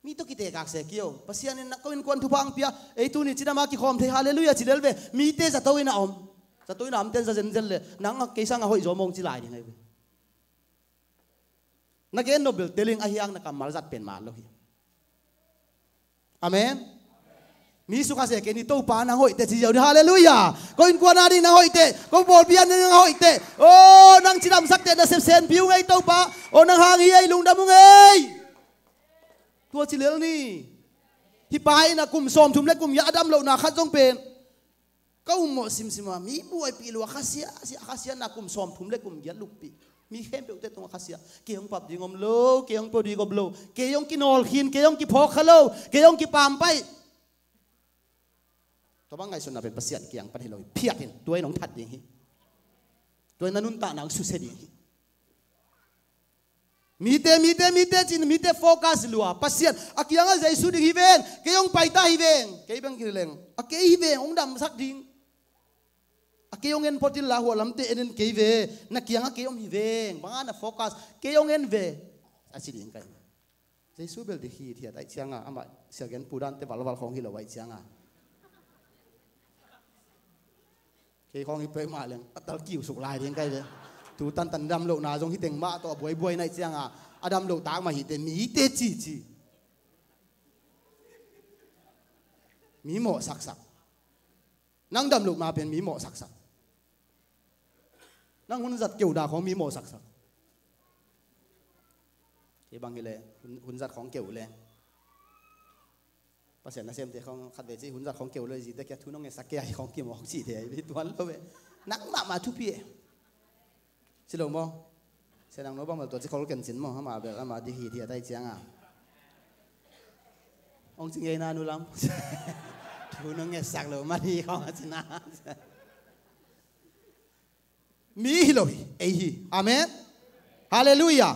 Mi tawh kitekak se kio. Pasian in na ko innkuan thupha ang pia. Ei tuni cidama kikhawm thei halleluiah ci lel ve. Mite zato in a om. Zato in a omten za zenzen le nang a kei sanga hoih zaw mawng ci lai ding ai ve. Na gen nop bel teling a hiang na kammal zat pen maan lo hi. Amen. Mi sukha se kei ni Topa nang hoih teh ci ziau ni halleluiah. Ko innkuan a ding nang hoih teh, ko pawlpi a ding nang hoih teh. O nang cidamsak teh na sepsen piu ngei Topa. O nang hang hi ei lungdam uh ngei. Tua ci lel ni. Hih pa in a kum sawmthum le kum giat a dam lohna khat zong pen ka ummawh simsim a mi buaipih lua khasia, sia khasia na kum sawmthum le kum giat luppi. Mi khempeuhte tungah khasia. Kei hong pap ding om lo, kei hong pua ding om lo. Kei hong kinawl khin, kei hong kiphawk kha lo, kei hong kipampai. Tua bang ngaihsutna pen Pasian kiang pan hi lo hi. Phiat in, tua in hong that ding hi. Tua in na nuntakna hong susia ding hi. Mite, mite, mite cin, mite focus lua. Pasian a kiangah Jesu ding hi veng, kei hong paita hi veng. Kei bang kileng a kei hi veng hong damsak ding. A kei hong en phot in la hua lamte en en kei ve. Na kiangah kei hong hi veng. Banga na focus kei hong en ve a ci ding kai. Jesu bel ding hi thiat ai cianga amah siagen pudante valval khawng hi lo ai cianga kei khawng hi peuhmah leng a tal kiu suk lai ding kai ve. Tu tantan dam lohna zong hi teng mah tawh a buaibuai naih cianga a dam loh tak mah hite mite cici. Mi mawh saksak. Nang dam lohna pen mi mawh saksak. Nang hun zat keuhna khawng mi mawh saksak. Kei bang hileh hun, hun zat khawng keuh le Pasian nasemte khawng khat vei ci hun zat khong keu lo zite kia thu nong ngetsak kei a hi khong kimawk cihte a hi tuan lo ve. Nang mahmah thupi e. Ci lo maw? Sia nang no bang bel tua ci khol ken cin maw? Ama bel ama di hi thiat a hi cianga hong ci ngei na nu lam. Thu nong ngetsak lo mah hi khong a cina. Mi hi lo hi, ei hi. Amen. Halleluiah.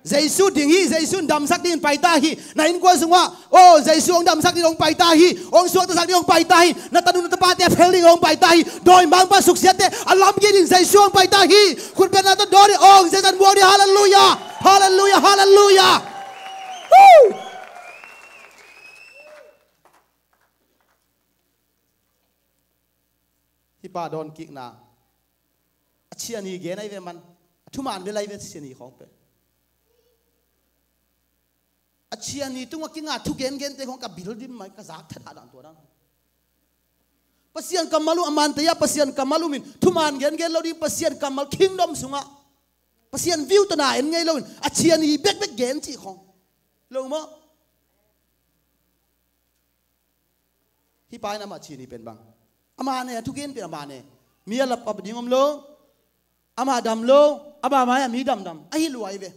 Jesu ding hi, Jesu in damsak dingin paita hi. Na innkuan sungah, oh, Jesu hong damsak dingin hong paita hi. Hong suaktasak dingin hong paita hi. Na tanu na tapate a phel dingin hong paita hi. Dawimangpa suksiatte a lamkik dingin Jesu hong paita hi. Khutbetna tawh dawn hi, oh, Jesu an muak ding. Halleluiah. Halleluiah. Halleluiah. Woo! Hih pa dawnkikna a chia ni gen ahi ve man. A thuman vel ahi ve chia ni khawng pen. A chia ni tungah kinga thu gengente khawng ka bil dim mai ka zak that a dan tua dan. Pasian kammal um a man tei a Pasian kammal um in thuman gengen lo ding Pasian kammal kingdom sungah Pasian view tawh na en ngei lo in a chia ni bekbek gen cih khawng. Lo maw? Hih pa in amah chia ni pen bang. Amah ne, a thugen pen amah ne. Mi a lapkap ding om lo. Amah dam lo. A ba mai-ah mi damdam ahi lua hi ve.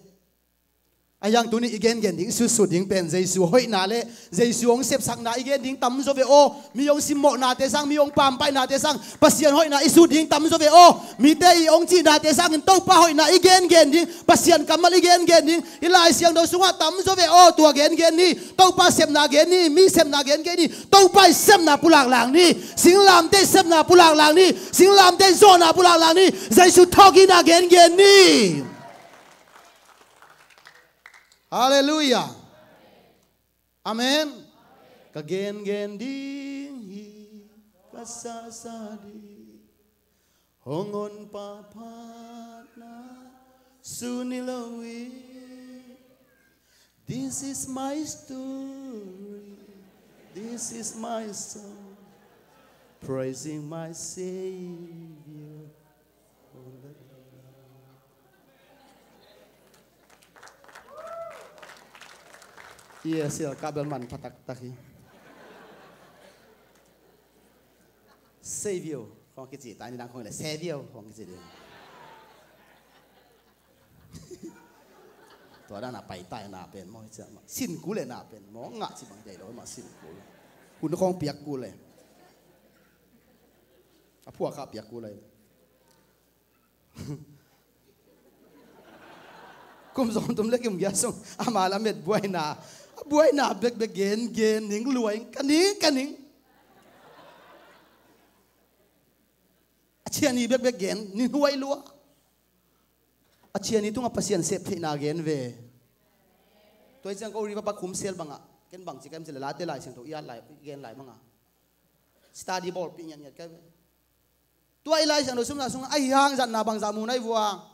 Ahi hang tuni i gengen ding, i sutsut ding pen Jesu hoihna le Jesu hong sepsakna i gen ding tamzaw ve aw. Mi hong simmawhnate sang, mi hong pampainate sang Pasian hoihna i sut ding tamzaw ve aw. Mite i hong cihnate sangin Topa hoihna i gengen ding, Pasian kammal i gengen ding. Hih Lai Siangtho sungah tamzaw ve aw. Tua gengen ni. Topa sepna gen ni. Mi sepna gen kei ni. Topa i sepna pulaklak ni. Singlamteh sepna pulaklak ni. Singlamteh zawhna pulaklak ni. Jesu thawhkikna gengen ni. Halleluiah. Amen. Ka gengen ding hi, ka sasa ding. Hong honpa phatna suni lo hi. This is my story. This is my song. Praising my Savior. Yes, ya, kabel man patak taki. Savior, kong kici, tani dang kong le, Savior, kong kici dia. Tua dan a pai tai na pen maw, cia ma. Sin kule na pen maw, nga ci bang jai lo ma sin kule. Hun kong piak kule. A pua ka piak kule. Kum zong tum le kim gia sung ama lamet buaina, a buaina bekbek gen gen ning luai ka ning ka ning. A ciani bekbek gen ning huai lua. A ciani tunga Pasian sep theihna gen ve. Tua i ciang ko riva pak khum sel banga ken bang ci kem ci le late Lai Siangtho i at lai gen lai banga. Study ball pi ngiat ngiat kai ve. Tua i Lai Siangtho sumna sung ahi hang zatna bangzah mu nai vua.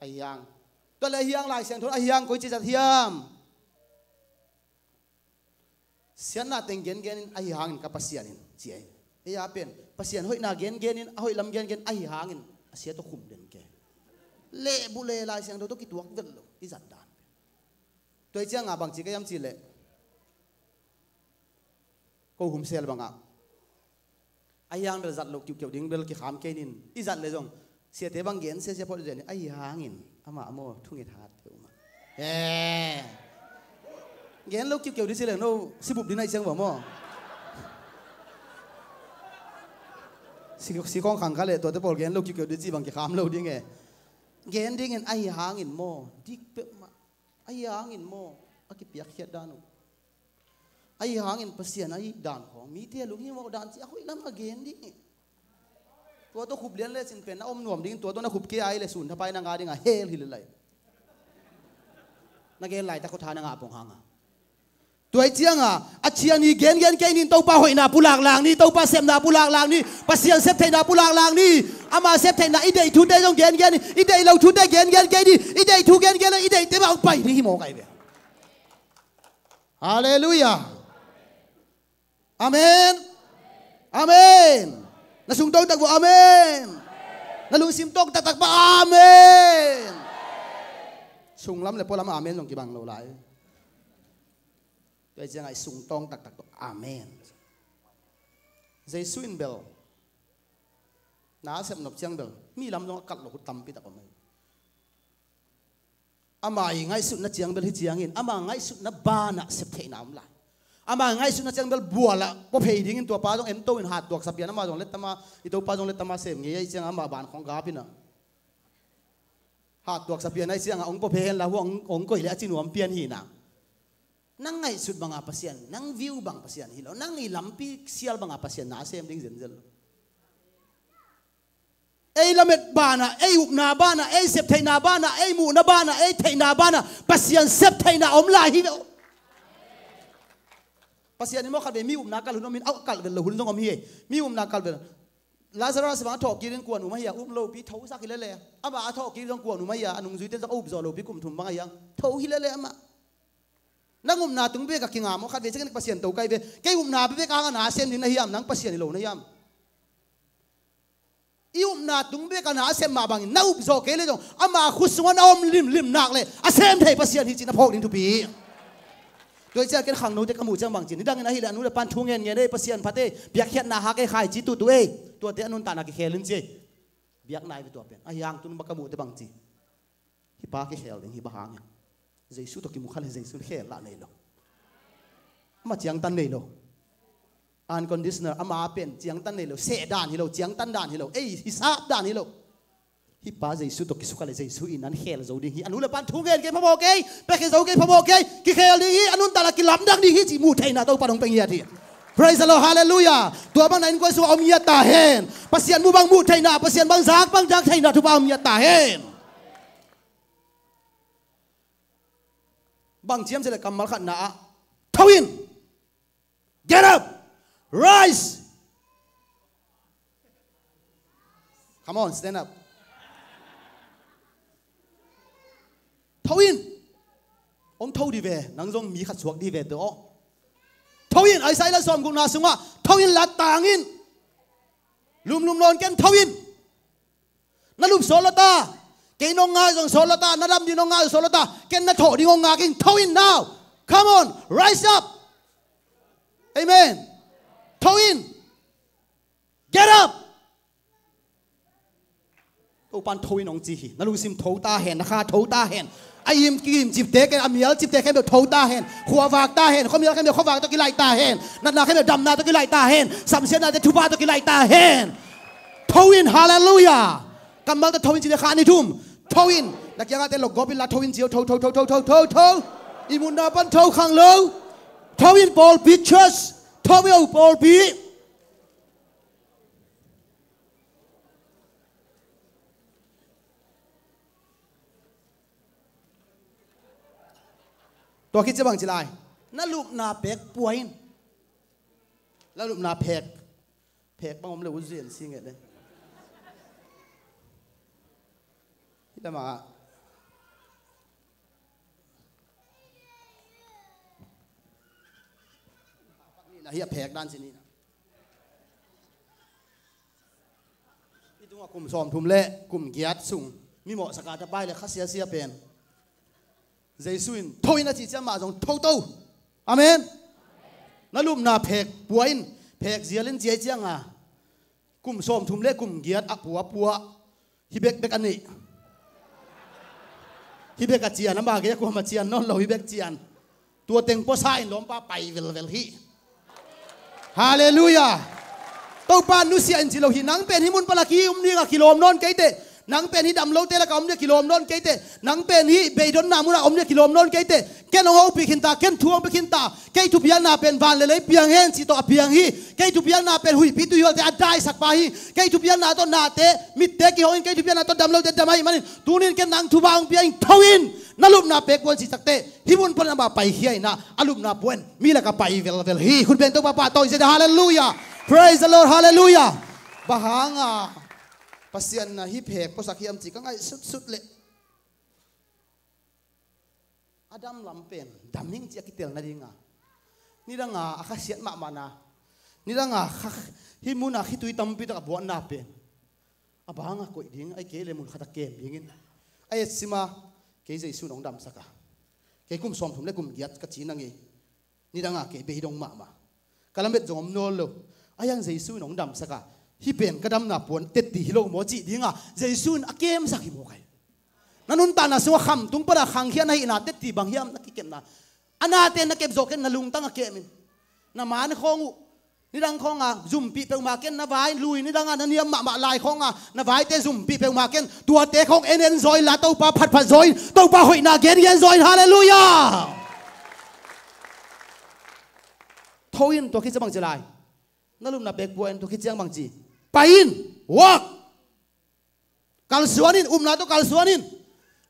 Ahi hang. Tua le ahi hang Lai Siangtho ahi hang koi ci zat hiam. Siatna teng gengen in ahi hangin ka Pasian in ci ai. Ei a pen Pasian hoihna gengen in a hoih lam gengen ahi hangin a sia tawh khum den ke. Lehbu le Lai Siangtho tawh kituak vel lo i zat dan pen. Tua i cianga bang ci ka hiam ci le. Ko hum sel bangah. Ahi hang bel zat loh kiuhkeuh ding bel kikham kei nin. I zat le zong siate bang gen sia sia phot zen ahi hangin amah maw thunget hat peuhmah. Eh. Gen loh kiuhkeuh ding si le no sibup ding ahi ciang bang maw. Si, si kong khang kha le tuate pawl gen loh kiuhkeuh ding ci bang kikham lo ding e. Gen dingin ahi hangin maw dik peuhmah. Ahi hangin maw a kipiakkhiat dan uh. Ahi hangin Pasian ahi dan khawng mite a lunghimawh dan ci a hoih lam a gen ding hi. Tua tawh khup lian lecin pen na om nuam dingin tua tawh na khup kei a hi le sun thapai na ngah ding a hel hi le lai. Na gen laitak khaw tha na ngah pong hanga. Tua i cianga a ciani gengen kei nin Topa hoihna pulak lang ni, Topa sepna pulak lang ni, Pasian sep theihna pulak lang ni. Ama sep theihna i deih thute zong gengen ni, i deih lo thute gengen kei ni, i deih thu gengen le i deihte mah hong pai ding hi mawk ahi ve. Halleluiah. Amen. Amen. Na sungtawng tak vua amen. Na lungsim tawng taktak pa amen. Sunglam le pualam amen zong kibang lo lai. Tua i ciangah i sungtawng taktak tawh amen. Jesu in bel na a sep nop ciang bel mi lam zong a kalh lo hu tampi tak om ahi. Ama i ngaihsutna ciang bel hi ciangin ama ngaihsutna banah sep theihna om lai. Ama ngaihsutna ciang bel bualah pua phei dingin tua pa zong ento in hat tuaksa pian ama zong lettama i Topa zong lettama sem ngei ahi ciang ama ban khong gapinah hat tuaksa pian ahi ciangah ong pua phei henla huang ong koih le a ci nuam pian hinah. Nang ngaihsut banga Pasian, nang view bang Pasian hi lo, nang i lampi sial banga Pasian na a sem ding zenzel lo. Ei lamet banah, ei upna banah, ei septheihna banah, ei muhna banah, ei theihna banah Pasian septheihna om lai hi lo. Pasian in maw khatvei mi upna kalh hun om in a kalh vel lo hun zong om hi. Mi upna kalh vel. Lazarus bang a thawhkik in kuan um ahi a um lopi thosak hi lele. Ama a thawhkik zong kuan um ahi a a nungzuite zong a upzawh lopi kum thum bang ahi a tho hi lele amah. Nang upna tung bek a kinga maw khatvei ciangin Pasian to kai ve. Kei upna bek a hang a na sem ding na hiam, nang Pasian hi lo na hiam? I upna tung bek a na a sem mah bangin na upzawh kei le zong ama khut sungah na om limlim nak le a sem thei Pasian hi cih na phawk ding thupi hi. Tua i ciah ken khangnote ka muh ciang bang ci ni dangin ahileh a nu le pan thu ngen ngen ei Pasian phate piakkhiatna hak ei khaici tutu ei tuate a nuntakna kikhel in ci ei. Biak nai ve tua pen. A hiang tun ba ka muh te bang ci. Hih pa kikhel ding hi bang hang hiam? Jesu tawh kimu kha le Jesu in khel lah nei lo. Amah ciangtan nei lo. Unconditional, ama pen ciangtan nei lo. Seh dan hi lo, ciangtan dan hi lo. Ei, hisap dan hi lo. Hih pa Jesu tawh kisukha le Jesu in an khel zo ding hi. A nu le pan thu ngen kei phamawh kei, pekhe zo kei phamawh kei. Kikhel ding hi, a nuntakna kilamdang ding hi cih muh theihna Topa in hong pia ngiat hi. Praise the Lord, hallelujah. Tua bang na innkuan sungah om ngiat ta hen. Pasian mu bang muh theihna, Pasian bang zak bang zak theihna thupha om ngiat ta hen. Bang ci hiam cih leh kammal khatna ah, tho in. Get up. Rise. Come on, stand up. Tho in. Hong tho dih ve, nang zong mi khat suak dih ve teh aw. Tho in, Isaiah sawmgukna sungah, tho in, lattang in. Lumlum nawn ken, tho in. Na lup sawt lo ta. Kei nong ngak zong sawt lo ta. Na dam ding nong ngak zong sawt lo ta. Ken na thawh ding hong ngak ing. Tho in now. Come on. Rise up. Amen. Tho in. Get up. Topa'n tho in hong ci hi. Na lungsim tho ta hen. Na kha tho ta hen. A im kim cipte ken, a mial cipte khempeuh tho ta hen. Khua vak ta hen. Khuamial khempeuh khuavak tawh kilaih ta hen. Natna khempeuh damna tawh kilaih ta hen. Samsiatnate thupha tawh kilaih ta hen. Tho in, hallelujah. Kammalte tho in ci le kha ni thum. Tho in. Na kiangahte lokgawp inla tho in ci o, tho, tho, tho. I mutna pan tho khang lo. Tho in pawlpi church. Tho in o pawlpi. Tua khit ciang bang ci lai. Na lupna phek pua in. Na lupna phek. Phek bang om le u zian si nget le. Hih lamah. Na hi a phek dan ci ni. Hih tungah kum sawmthum le kum giat sung mi mawhsak a tapai le kha siasia pen Jesu in tho in a cih ciang mah zong tho to. Amen. Na lupna phek pua in, phek zial in ci a cianga kum sawmthum le kum giat a pua pua. Hih bek bek a nih. Hih bek a cian, a mah gei a kuamah cian nawn lo, hih bek cian. Tua teng puasa in lawmpa pai velvel hi. Hallelujah. Topa nusia in ci lo hi. Nang pen hih mun pan a ki um ding a kilawm nawn kei teh. Nang pen hih dam lote lakah om ding a kilawm nawn kei teh. Nang pen hih beidonna munah om ding a kilawm nawn kei teh. Ken hong hopih khin ta, ken thu hong pia khin ta. Kei thupiakna pen van le lei piang hen cih tawh a piang hi. Kei thupiakna pen huihpi tuihualte a daisakpa hi. Kei thupiakna tawh nate, mitte kihong in, kei thupiakna tawh damlote dam ahih manin, tunin ken nang thupha hong pia in, tho in. Na lupna phek pua in cih takteh hih mun pan amah paikhia in ah, a lupna pua in mi lakah pai velvel hi. Khut beng Topa pahtawi zia, hallelujah. Praise the Lord, hallelujah. Bang hanga Pasian na hih phek puasak hiam cih ka ngaihsutsut leh a dam lam pen dam hing ci a kitel nadinga, nidanga a khasiat mahmahna, nidanga kha, hih muna khitui tampi tak a buatna pen a banga koih ding, ahih kei le mun khat a kem dingin a etsima, kei Jesu in hong damsak a, kei kum sawmthum le kum giat ka ci nang ei. Nidanga kei beidong mahmah. Ka lamet zong om nawn lo. A hiang Jesu in hong damsak a, hih pen ka damna puan tetti hi lo maw cih dinga Jesu in a kemsak hi maw kai. Na nuntakna sungah khamtung pana khangkhia na hihna tetti bang hiam na kikepna? A nate na kep zawh ken, na lungtang a kem in. Na man khawng uh nidang khawnga zumpih peuhmah ken, na vai lui nidanga na niam mahmah lai khawnga na vaite zumpih peuhmah ken. Tuate khawng en en zaw inla Topa phatphat zaw in, Topa hoihna gengen zaw in. Hallelujah. Tho in, tua khit ciang bang ci lai? Na lupna phek pua in, tua khit ciang bang ci? Pai in. Walk. Kalsuan in, upna tawh kalsuan in.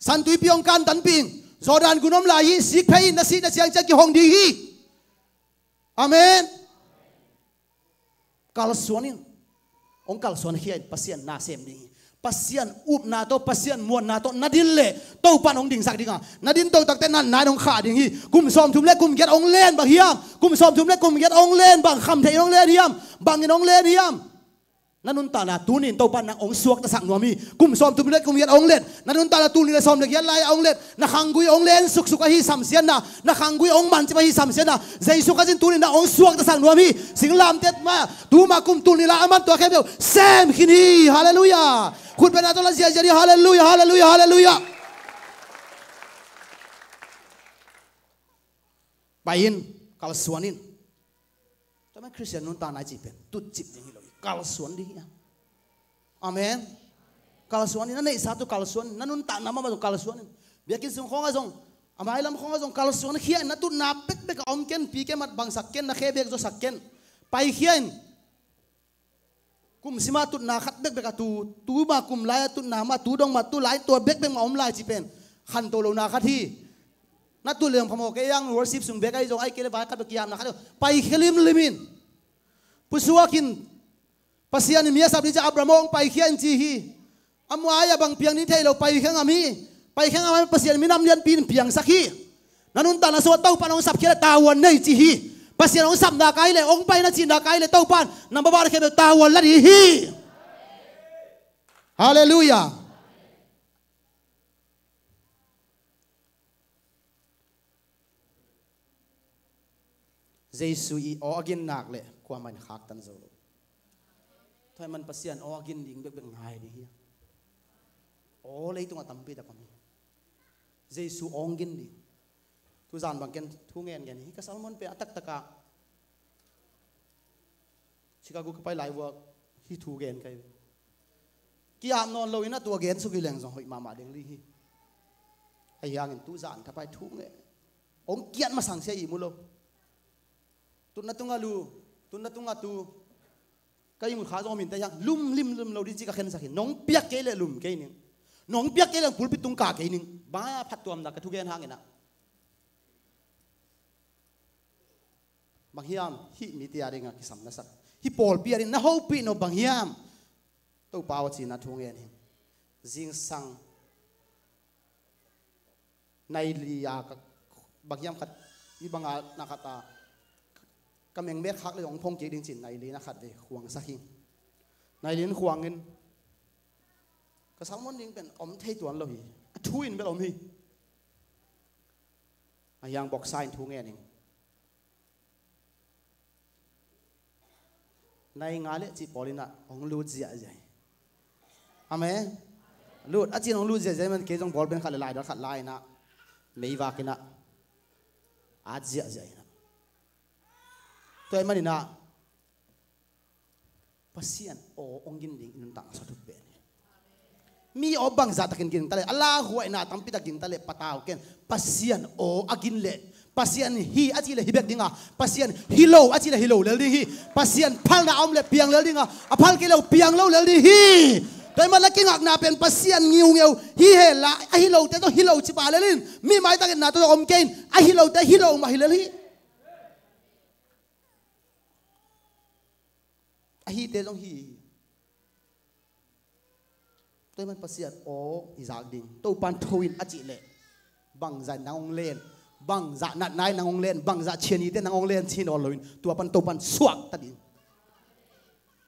Santuipi hong kantanpih in. Jordan gun om lai hi, sikphei in, na sihna siangciang kihong ding hi. Amen. Kalsuan in. Hong kalsuan khia in, Pasian na sem ding hi. Pasian upna tawh, Pasian muanna tawh na din leh Topa in hong dingsak ding a, na din to takteh natna in hong khah ding hi. Kum sawmthum le kum giat hong len bang hiam? Kum sawmthum le kum giat hong len bang khamtheih in hong len hiam? Bangin hong len hiam? Na nuntakna tuni in Topa nang hong suaktasak nuam hi. Kum sawmthum le kum giat hong let, na nuntakna tul nih le sawm le giat lai-ah hong let, na khanggui hong len suksuk ahi samsiatna, na khanggui hong mancip ahi samsiatna, Jesu Khazih in tuni in nang hong suaktasak nuam hi. Singlamteh mah, tuma kum tul nih lai a man tua khempeuh sem khin hi. Halleluiah. Khut bengna tawh la ziahziah dih. Halleluiah, halleluiah, halleluiah. Pai in, kalsuan in. Tua man Khristian nuntakna i cih pen tutcip ding hi lo hi. Kalsuan ding hi a. Amen. Kalsuan in, na neihsa tawh kalsuan in, na nuntakna mahmah tawh kalsuan in. Biakinn sung khawngah zong, a mailam khawngah zong kalsuan khia in, na tutna bekbek a om ken, pi ken, mat bangsak ken, na khe bek zawsak ken. Paikhia in. Kum sim a tutna khat bekbek a tu, tu mah kum lai a tutna mah, tu dong mah, tu lai tua bekbek mah om lai cih pen khanto lohna khat hi. Na tut leh zong phamawh kei hang, worship sung bek ahi zong, ahih kei leh vai khat bek kiamna khat hi. Paikhia limlim in. Pusuak in. Pasian in mi a sap ding ci-a Abraham hong paikhia in ci hi. A muai a bang piang ding thei lo, paikhia ngam hi. Paikhia ngam a, Pasian minam lianpi in piangsak hi. Na nuntakna sungah Topa in hong sapkhia leh tavuan nei ci hi. Pasian hong sap nak ahi leh, hong pai na cih nak ahi leh, Topa in number one khempeuh tavuan la ding hi. Halleluiah. Jesu i aw a gin nak leh kuamah in khaktan zo lo. Tua ahih man Pasian aw a gin ding bekbek ngai ding hi. Aw leitungah tampi tak om hi. Jesu aw hong gin ding. Tuzan bang ken thu ngen ngen hi. Ka sermon pen a taktak ah Chicago ka pai lai uah hih thu gen ka hi. Ki-ap nawn lo in a, tua gen suk hi leng zong hoih mahmah ding ding hi. Ahi hangin tuzan ka pai thu ngen. Hong kiat masang sia ihmu lo. Tutna tungah lu, tutna tungah tu. Ka ihmut kha zong om in teh hiam, lum limlim lo ding ci ka khensak hi. Nong piak kei leh lum kei ning. Nong piak kei leh pulpit tung kah kei ning. Bang a phattuamna ka thugen hangin ah. Bang hiam, hih mite a dingah kisam na sak, hih pawlpi a ding na hopih nop bang hiam? Topa aw cihna thu ngen hi. Zingsang nai li a ka, bang hiam khat, hih banga na khat a, ka mengmek khak le hong phong kik ding ci-in nai li na khat vei khuangsak hi. Nai li in khuangin ka sermon ding pen om thei tuan lo hi. A thu in bel om hi. A hiang boksa in thu ngen in. Nai nga le cih pawl in ah hong lut ziahziah hi. Amen. Lut, a cin hong lut ziahziah man kei zong ball pen khat le laidal khat la in ah meivak in ah at ziahziah in ah. Tua ahih man in ah Pasian aw hong gin ding i nuntakna sung thupi pen hi. Mi aw bangzah takin gin ta leh, a lauhuaina tampi tak gin ta leh patau ken. Pasian aw a gin leh, Pasian hi a cih leh hi bek ding a, Pasian hi lo a cih leh hi lo lel ding hi. Pasian phalna a om leh piang lel ding a, a phal kei leh piang lo lel ding hi. Tua ahih man la kingakna pen Pasian ngiungeu hi hen la, a hi lote tawh hi lo ci pah lel in. Mi maitak etna tawh om kei in, a hi lote hi lo mah hi lel hi. A hite zong hi hi. Tua ahih man Pasian aw i zak ding. Topan tho in a cih leh bangzah in nang hong len, bangzah natna in nang hong len, bangzah cianite in nang hong len ci nawn lo in, tua pan Topan suakta ding.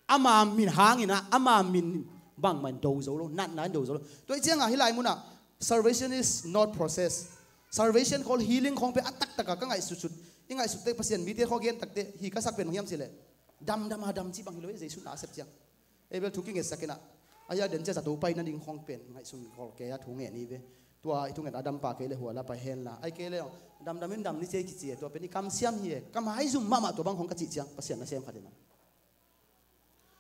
Ama min hangin ah, ama min bangmah in do zo lo, natna in do zo lo. Tua ahih ciangah hih lai munah salvation is not process. Salvation khawng, healing khawng pen a taktak a ka ngaihsutsut, i ngaihsut teh Pasian mite khawng gen tak teh hi ka sak pen bang hiam cih leh, damdam a dam cih bang hi lo hi, Jesu na a sep ciang. Ei bel thu kingetsak in ah, a hia den cia zato pai nading khawng pen ngaihsun khol kei a thu ngen hi ve. Tua i thu nget a dam pah kei leh hua la pai hen la, ahih kei leh damdam in dam ni ci ei kici e, tua pen i kamsiam hi e, ka maizum mahmah tua bang khawng ka cih ciang Pasian nasem khat in ah.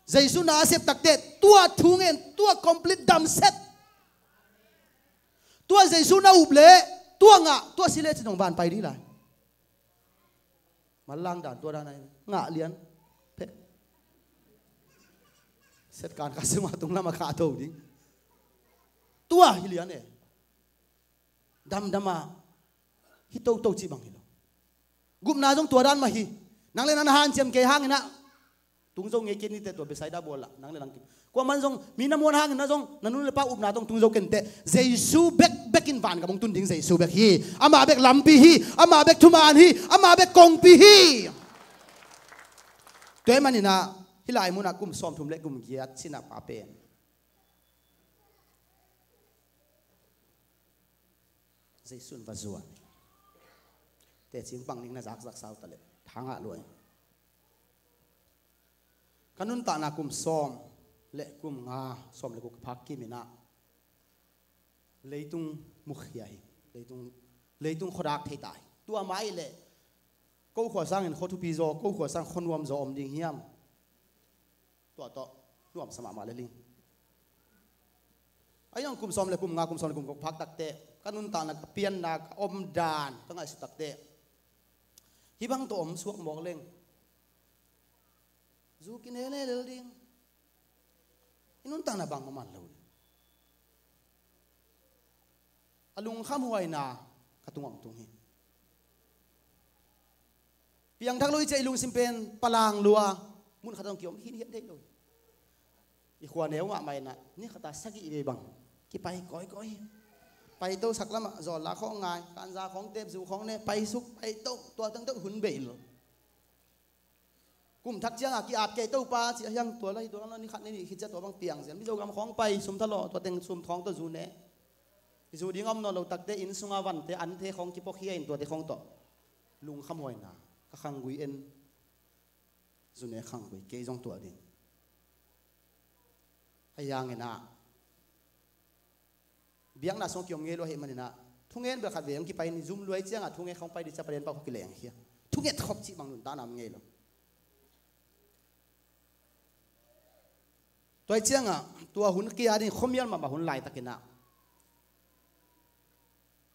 Jesu na a sep tak teh tua thu ngen, tua complete dam set. Tua Jesu na up leh, tua ngah, tua si leh ci-in hong van pai ding lai. Manlang dan tua dan ahi, ngah lian pek. Setkan ka sungah tung lamah khah to ding. Tua hi lian e. Damdam a hi toto cih bang hi lo. Gupna zong tua dan mah hi. Nang le nang na hanciam kei hangin ah tung zo ngei kei ni teh, tua Bethsaida bual ah nang le nang kei. Kuaman zong mi na muan hangin ah zong na nu le pa upna tawh tung zo ken teh. Jesu bekbek in vangam hong tun ding Jesu bek hi. Amah bek lampi hi. Amah bek thuman hi. Amah bek kongpi hi. Tua ahih man in ah Hih lai munah kum sawmthum le kum giat sinah pa pen Jesuh in va zuan. Teci bang ning na zakzak sau ta leh thangah luai. Ka nuntakna kum sawm le kum nga, sawm le guk ka phak kim inah leitung mukhia hi. Leitung, leitung khuadak thei ta hi. Tua mah ih leh ko khua sangin khua thupi zaw, ko khua sang khua nuam zaw om ding hiam? Tua tawh nuamsa mahmah le ling. Ahi zong kum sawm le kum nga, kum sawm le kum guk phak takteh ka nuntakna, ka pianna, ka omdan ka ngaihsut takteh hih bang tawh om suak mawk leng zu kinelel ding. I nuntakna bang maman lo ding. A lungkhamhuaina ka tungah hong tung hi. Piangthak lo i ciah i lungsim pen palang lua, mun khat hong kiom hi hian thei lo hi. I khua neu mahmah inah ni khata sagih vei bang kipai kawikawi hi. Paito sak lamah zawlla khawng ngai, kanza khawng tep, zu khawng ne, paisuk, paito, tua tengteng hun bei lo. Kum thak ciangah ki-ap kei Topa ci a hiang, tua lai tua lai ni khat ni nih khit ciah tua bang piang zian. Mizo gam khawng pai sum thalawh, tua teng sum thawng tawh zu ne. I zu ding a om nawn lo takte inn sunga vante anthe khawng kipuakhia in tuate khawng tawh lungkhamhuaina ka khanggui en. Zu ne khanggui kei zong tuah ding. A hiang inah biakna sung kiom ngei lo ahih maninah thungen bel khat vei hong kipai in, zum luai ciangah thungen khawng pai dih ciah palen pau khawng kileng khia. Thunget khop cih bang nuntakna om ngei lo. Tua ih ciangah tua hun kia ding khuamial mahmah hun laitakinah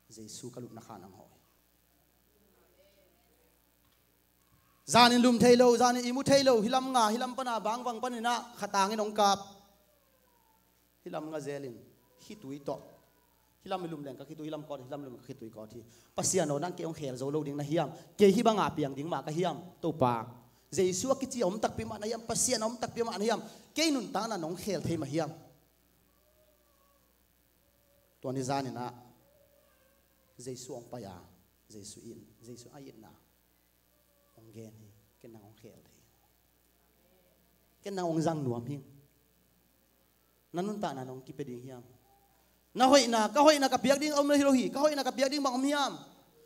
Jesu ka lupna khan ang hawh hi. Zanin lum thei lo, zanin i mu thei lo, hih lam nga, hih lam pana bangvang paninah khatangin hong kap. Hih lam nga zelin khitui tawh, hih lam i lum leng ka khitui, hih lam kawt, hih lam i lum ka khitui kawt hi. Pasian aw, nang kei hong khel zo lo ding na hiam? Kei hih banga piang ding mah ka hiam, Topa? Jesu a kici a om takpi mah na hiam? Pasian a om takpi mah na hiam? Kei nuntakna nong khel thei mah hiam? Tua ni zaninah Jesu hong pai a, Jesu in, Jesu a itna hong gen hi. Ken nang hong khel thei. Ken nang hong zang nuam hi. Na nuntakna nong kipia ding hiam? Na hoihna, ka hoihna ka piak ding om lo hi lo hi. Ka hoihna ka piak ding bang om hiam?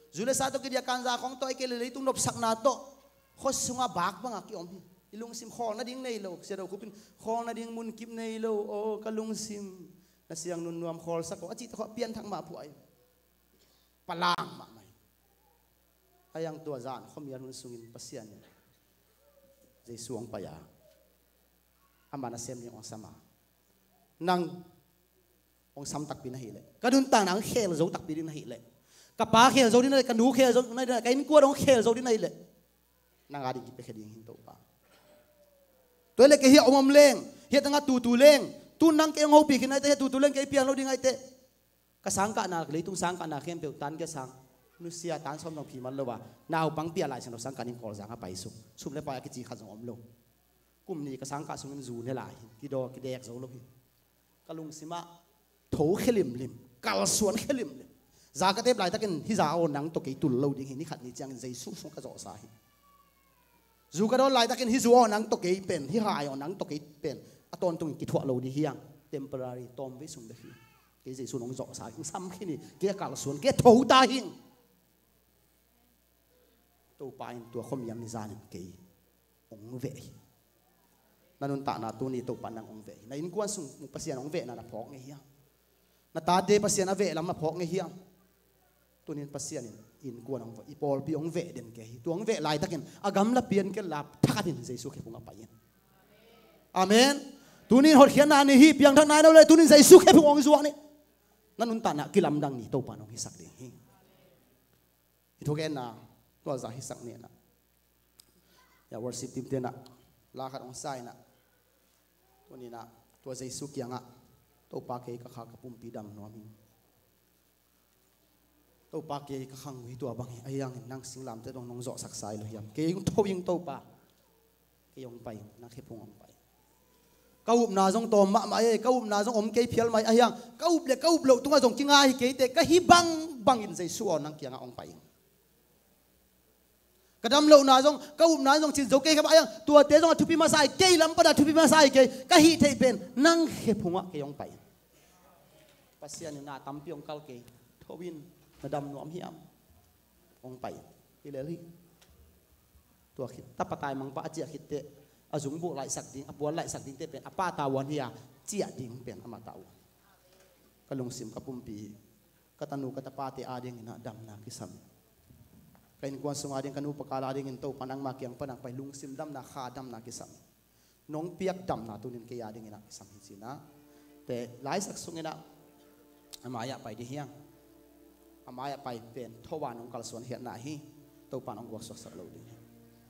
Zu le sa tawh kidiah kanza khawng tawh, ahih kei leh leitung nopsakna tawh khua sungah bak bangah kiom hi. I lungsim khawl nading nei lo. Sia Do Khup in khawl nading munkip nei lo. Aw ka lungsim, na siang nunnuam khawlsak aw, a cih tawh khawh a pianthak mah phuah hi. Palang mahmah hi. A hiang tua zan khuamial hun sungin Pasian in Jesu hong pai a, ama nasem ding hong sam a, nang hong sam takpi na hih leh, ka nuntakna hong khel zo takpi ding na hih leh, ka pa khel zo ding na hih leh, ka nu khel zo ding na hih leh, ka innkuan hong khel zo ding na hih leh, nang a ding kipiakhia ding hi Topa. Tua hi leh kei hiah om om leng, hiah tangah tutu leng, tu nang kei hong hopih khin ahih teh, hiah tutu leng kei piang lo ding ahih teh, ka sangkahna, leitung sangkahna khempeuh tan kia sang, nusia tan sawm zong phi man lo a, naupang pia Lai Siangtho sangkah ning Kawlzang a paisuk, sum le pai a kici khat zong om lo. Kum nih ka sangkah sungin zu ne lai hi, kidaw kidek zo lo hi. Ka lungsimah tho khe limlim, kalsuan khe limlim. Za ka tep laitakin hih za aw nang tawh kei tul lo ding hi, ni khat ni ciangin Jesu sung ka zawhsa hi. Zu ka dawn laitakin hih zu aw nang tawh kei pen, hih hai aw nang tawh kei pen a tawntungin kithuah lo ding hiang. Temporary, tawmvei sung bek hi. Kei Jesu nong zawhsa hi, hong sam khin hi, kei a kalsuan, kei a tho ta hing. Topa in tua khuamial ni zanin kei hong veh hi. Na nuntakna tuni Topa nang hong veh hi. Na innkuan sung Pasian hong vehna na phawk ngei hiam? Na tate Pasian a veh lam na phawk ngei hiam? Tunin Pasian in innkuan hong veh, i pawlpi hong veh den kei hi. Tua hong veh laitakin a gamla pian kei la thakhatin Jesu khephung a pai in. Amen. Tunin hotkhiatna ni hi, piangthakna ni lo le, tunin Jesu khephung hong zuak ni. Na nuntakna kilamdang ni Topa nong hisak ding hi. I thugenna tua za hisak ni na. Ya worship team tenah la khat hong sa inah, tuninah tua Jesu kiangah, Topa kei ka kha ka pumpi dam nuam hi. Topa kei ka khanggui tua bang hi, a hiangin nang singlamteh dong nong zawhsak sa hi lo hiam? Kei hong tho hing Topa. Kei hong pai hing, nang khephung hong pai. Ka upna zong tawm mahmah e, ka upna zong om kei phial mai a hiang, ka up le ka up loh tungah zong kinga hi kei teh, ka hi bangbangin Jesu aw nang kiangah hong pai hing. Ka dam lohna zong, ka upna zong cin zo kei kha mah hiang, tuate zong a thupi masa hi kei, lam pana thupi masa hi kei, ka hih theih pen nang khe phungah kei hong pai in. Pasian in na tampi hong kal kei, tho in, na dam nuam hiam? Hong pai in. Hi lel hi. Tua khit, tapa taimangpa a ciah khitteh, a zungbuh laihsak ding, a puan laihsak dingte pen a pa tavuan hi a, ciah ding pen amah tavuan. Ka lungsim ka pumpi, ka tanu ka tapate adingin ah damna kisam hi. Ka innkuan sung ading, ka nu pa kal adingin Topa nangma kiang pana pai, lungsim damna, kha damna kisam hi. Nong piak damna tunin kei adingin ah kisam hi ci-in ah. Te laisak sungin ah a mai-ah pai ding hiang. A mai-ah pai pen tho a nong kalsuan khiatna hi. Topa nong guaksuaksak lo ding hi.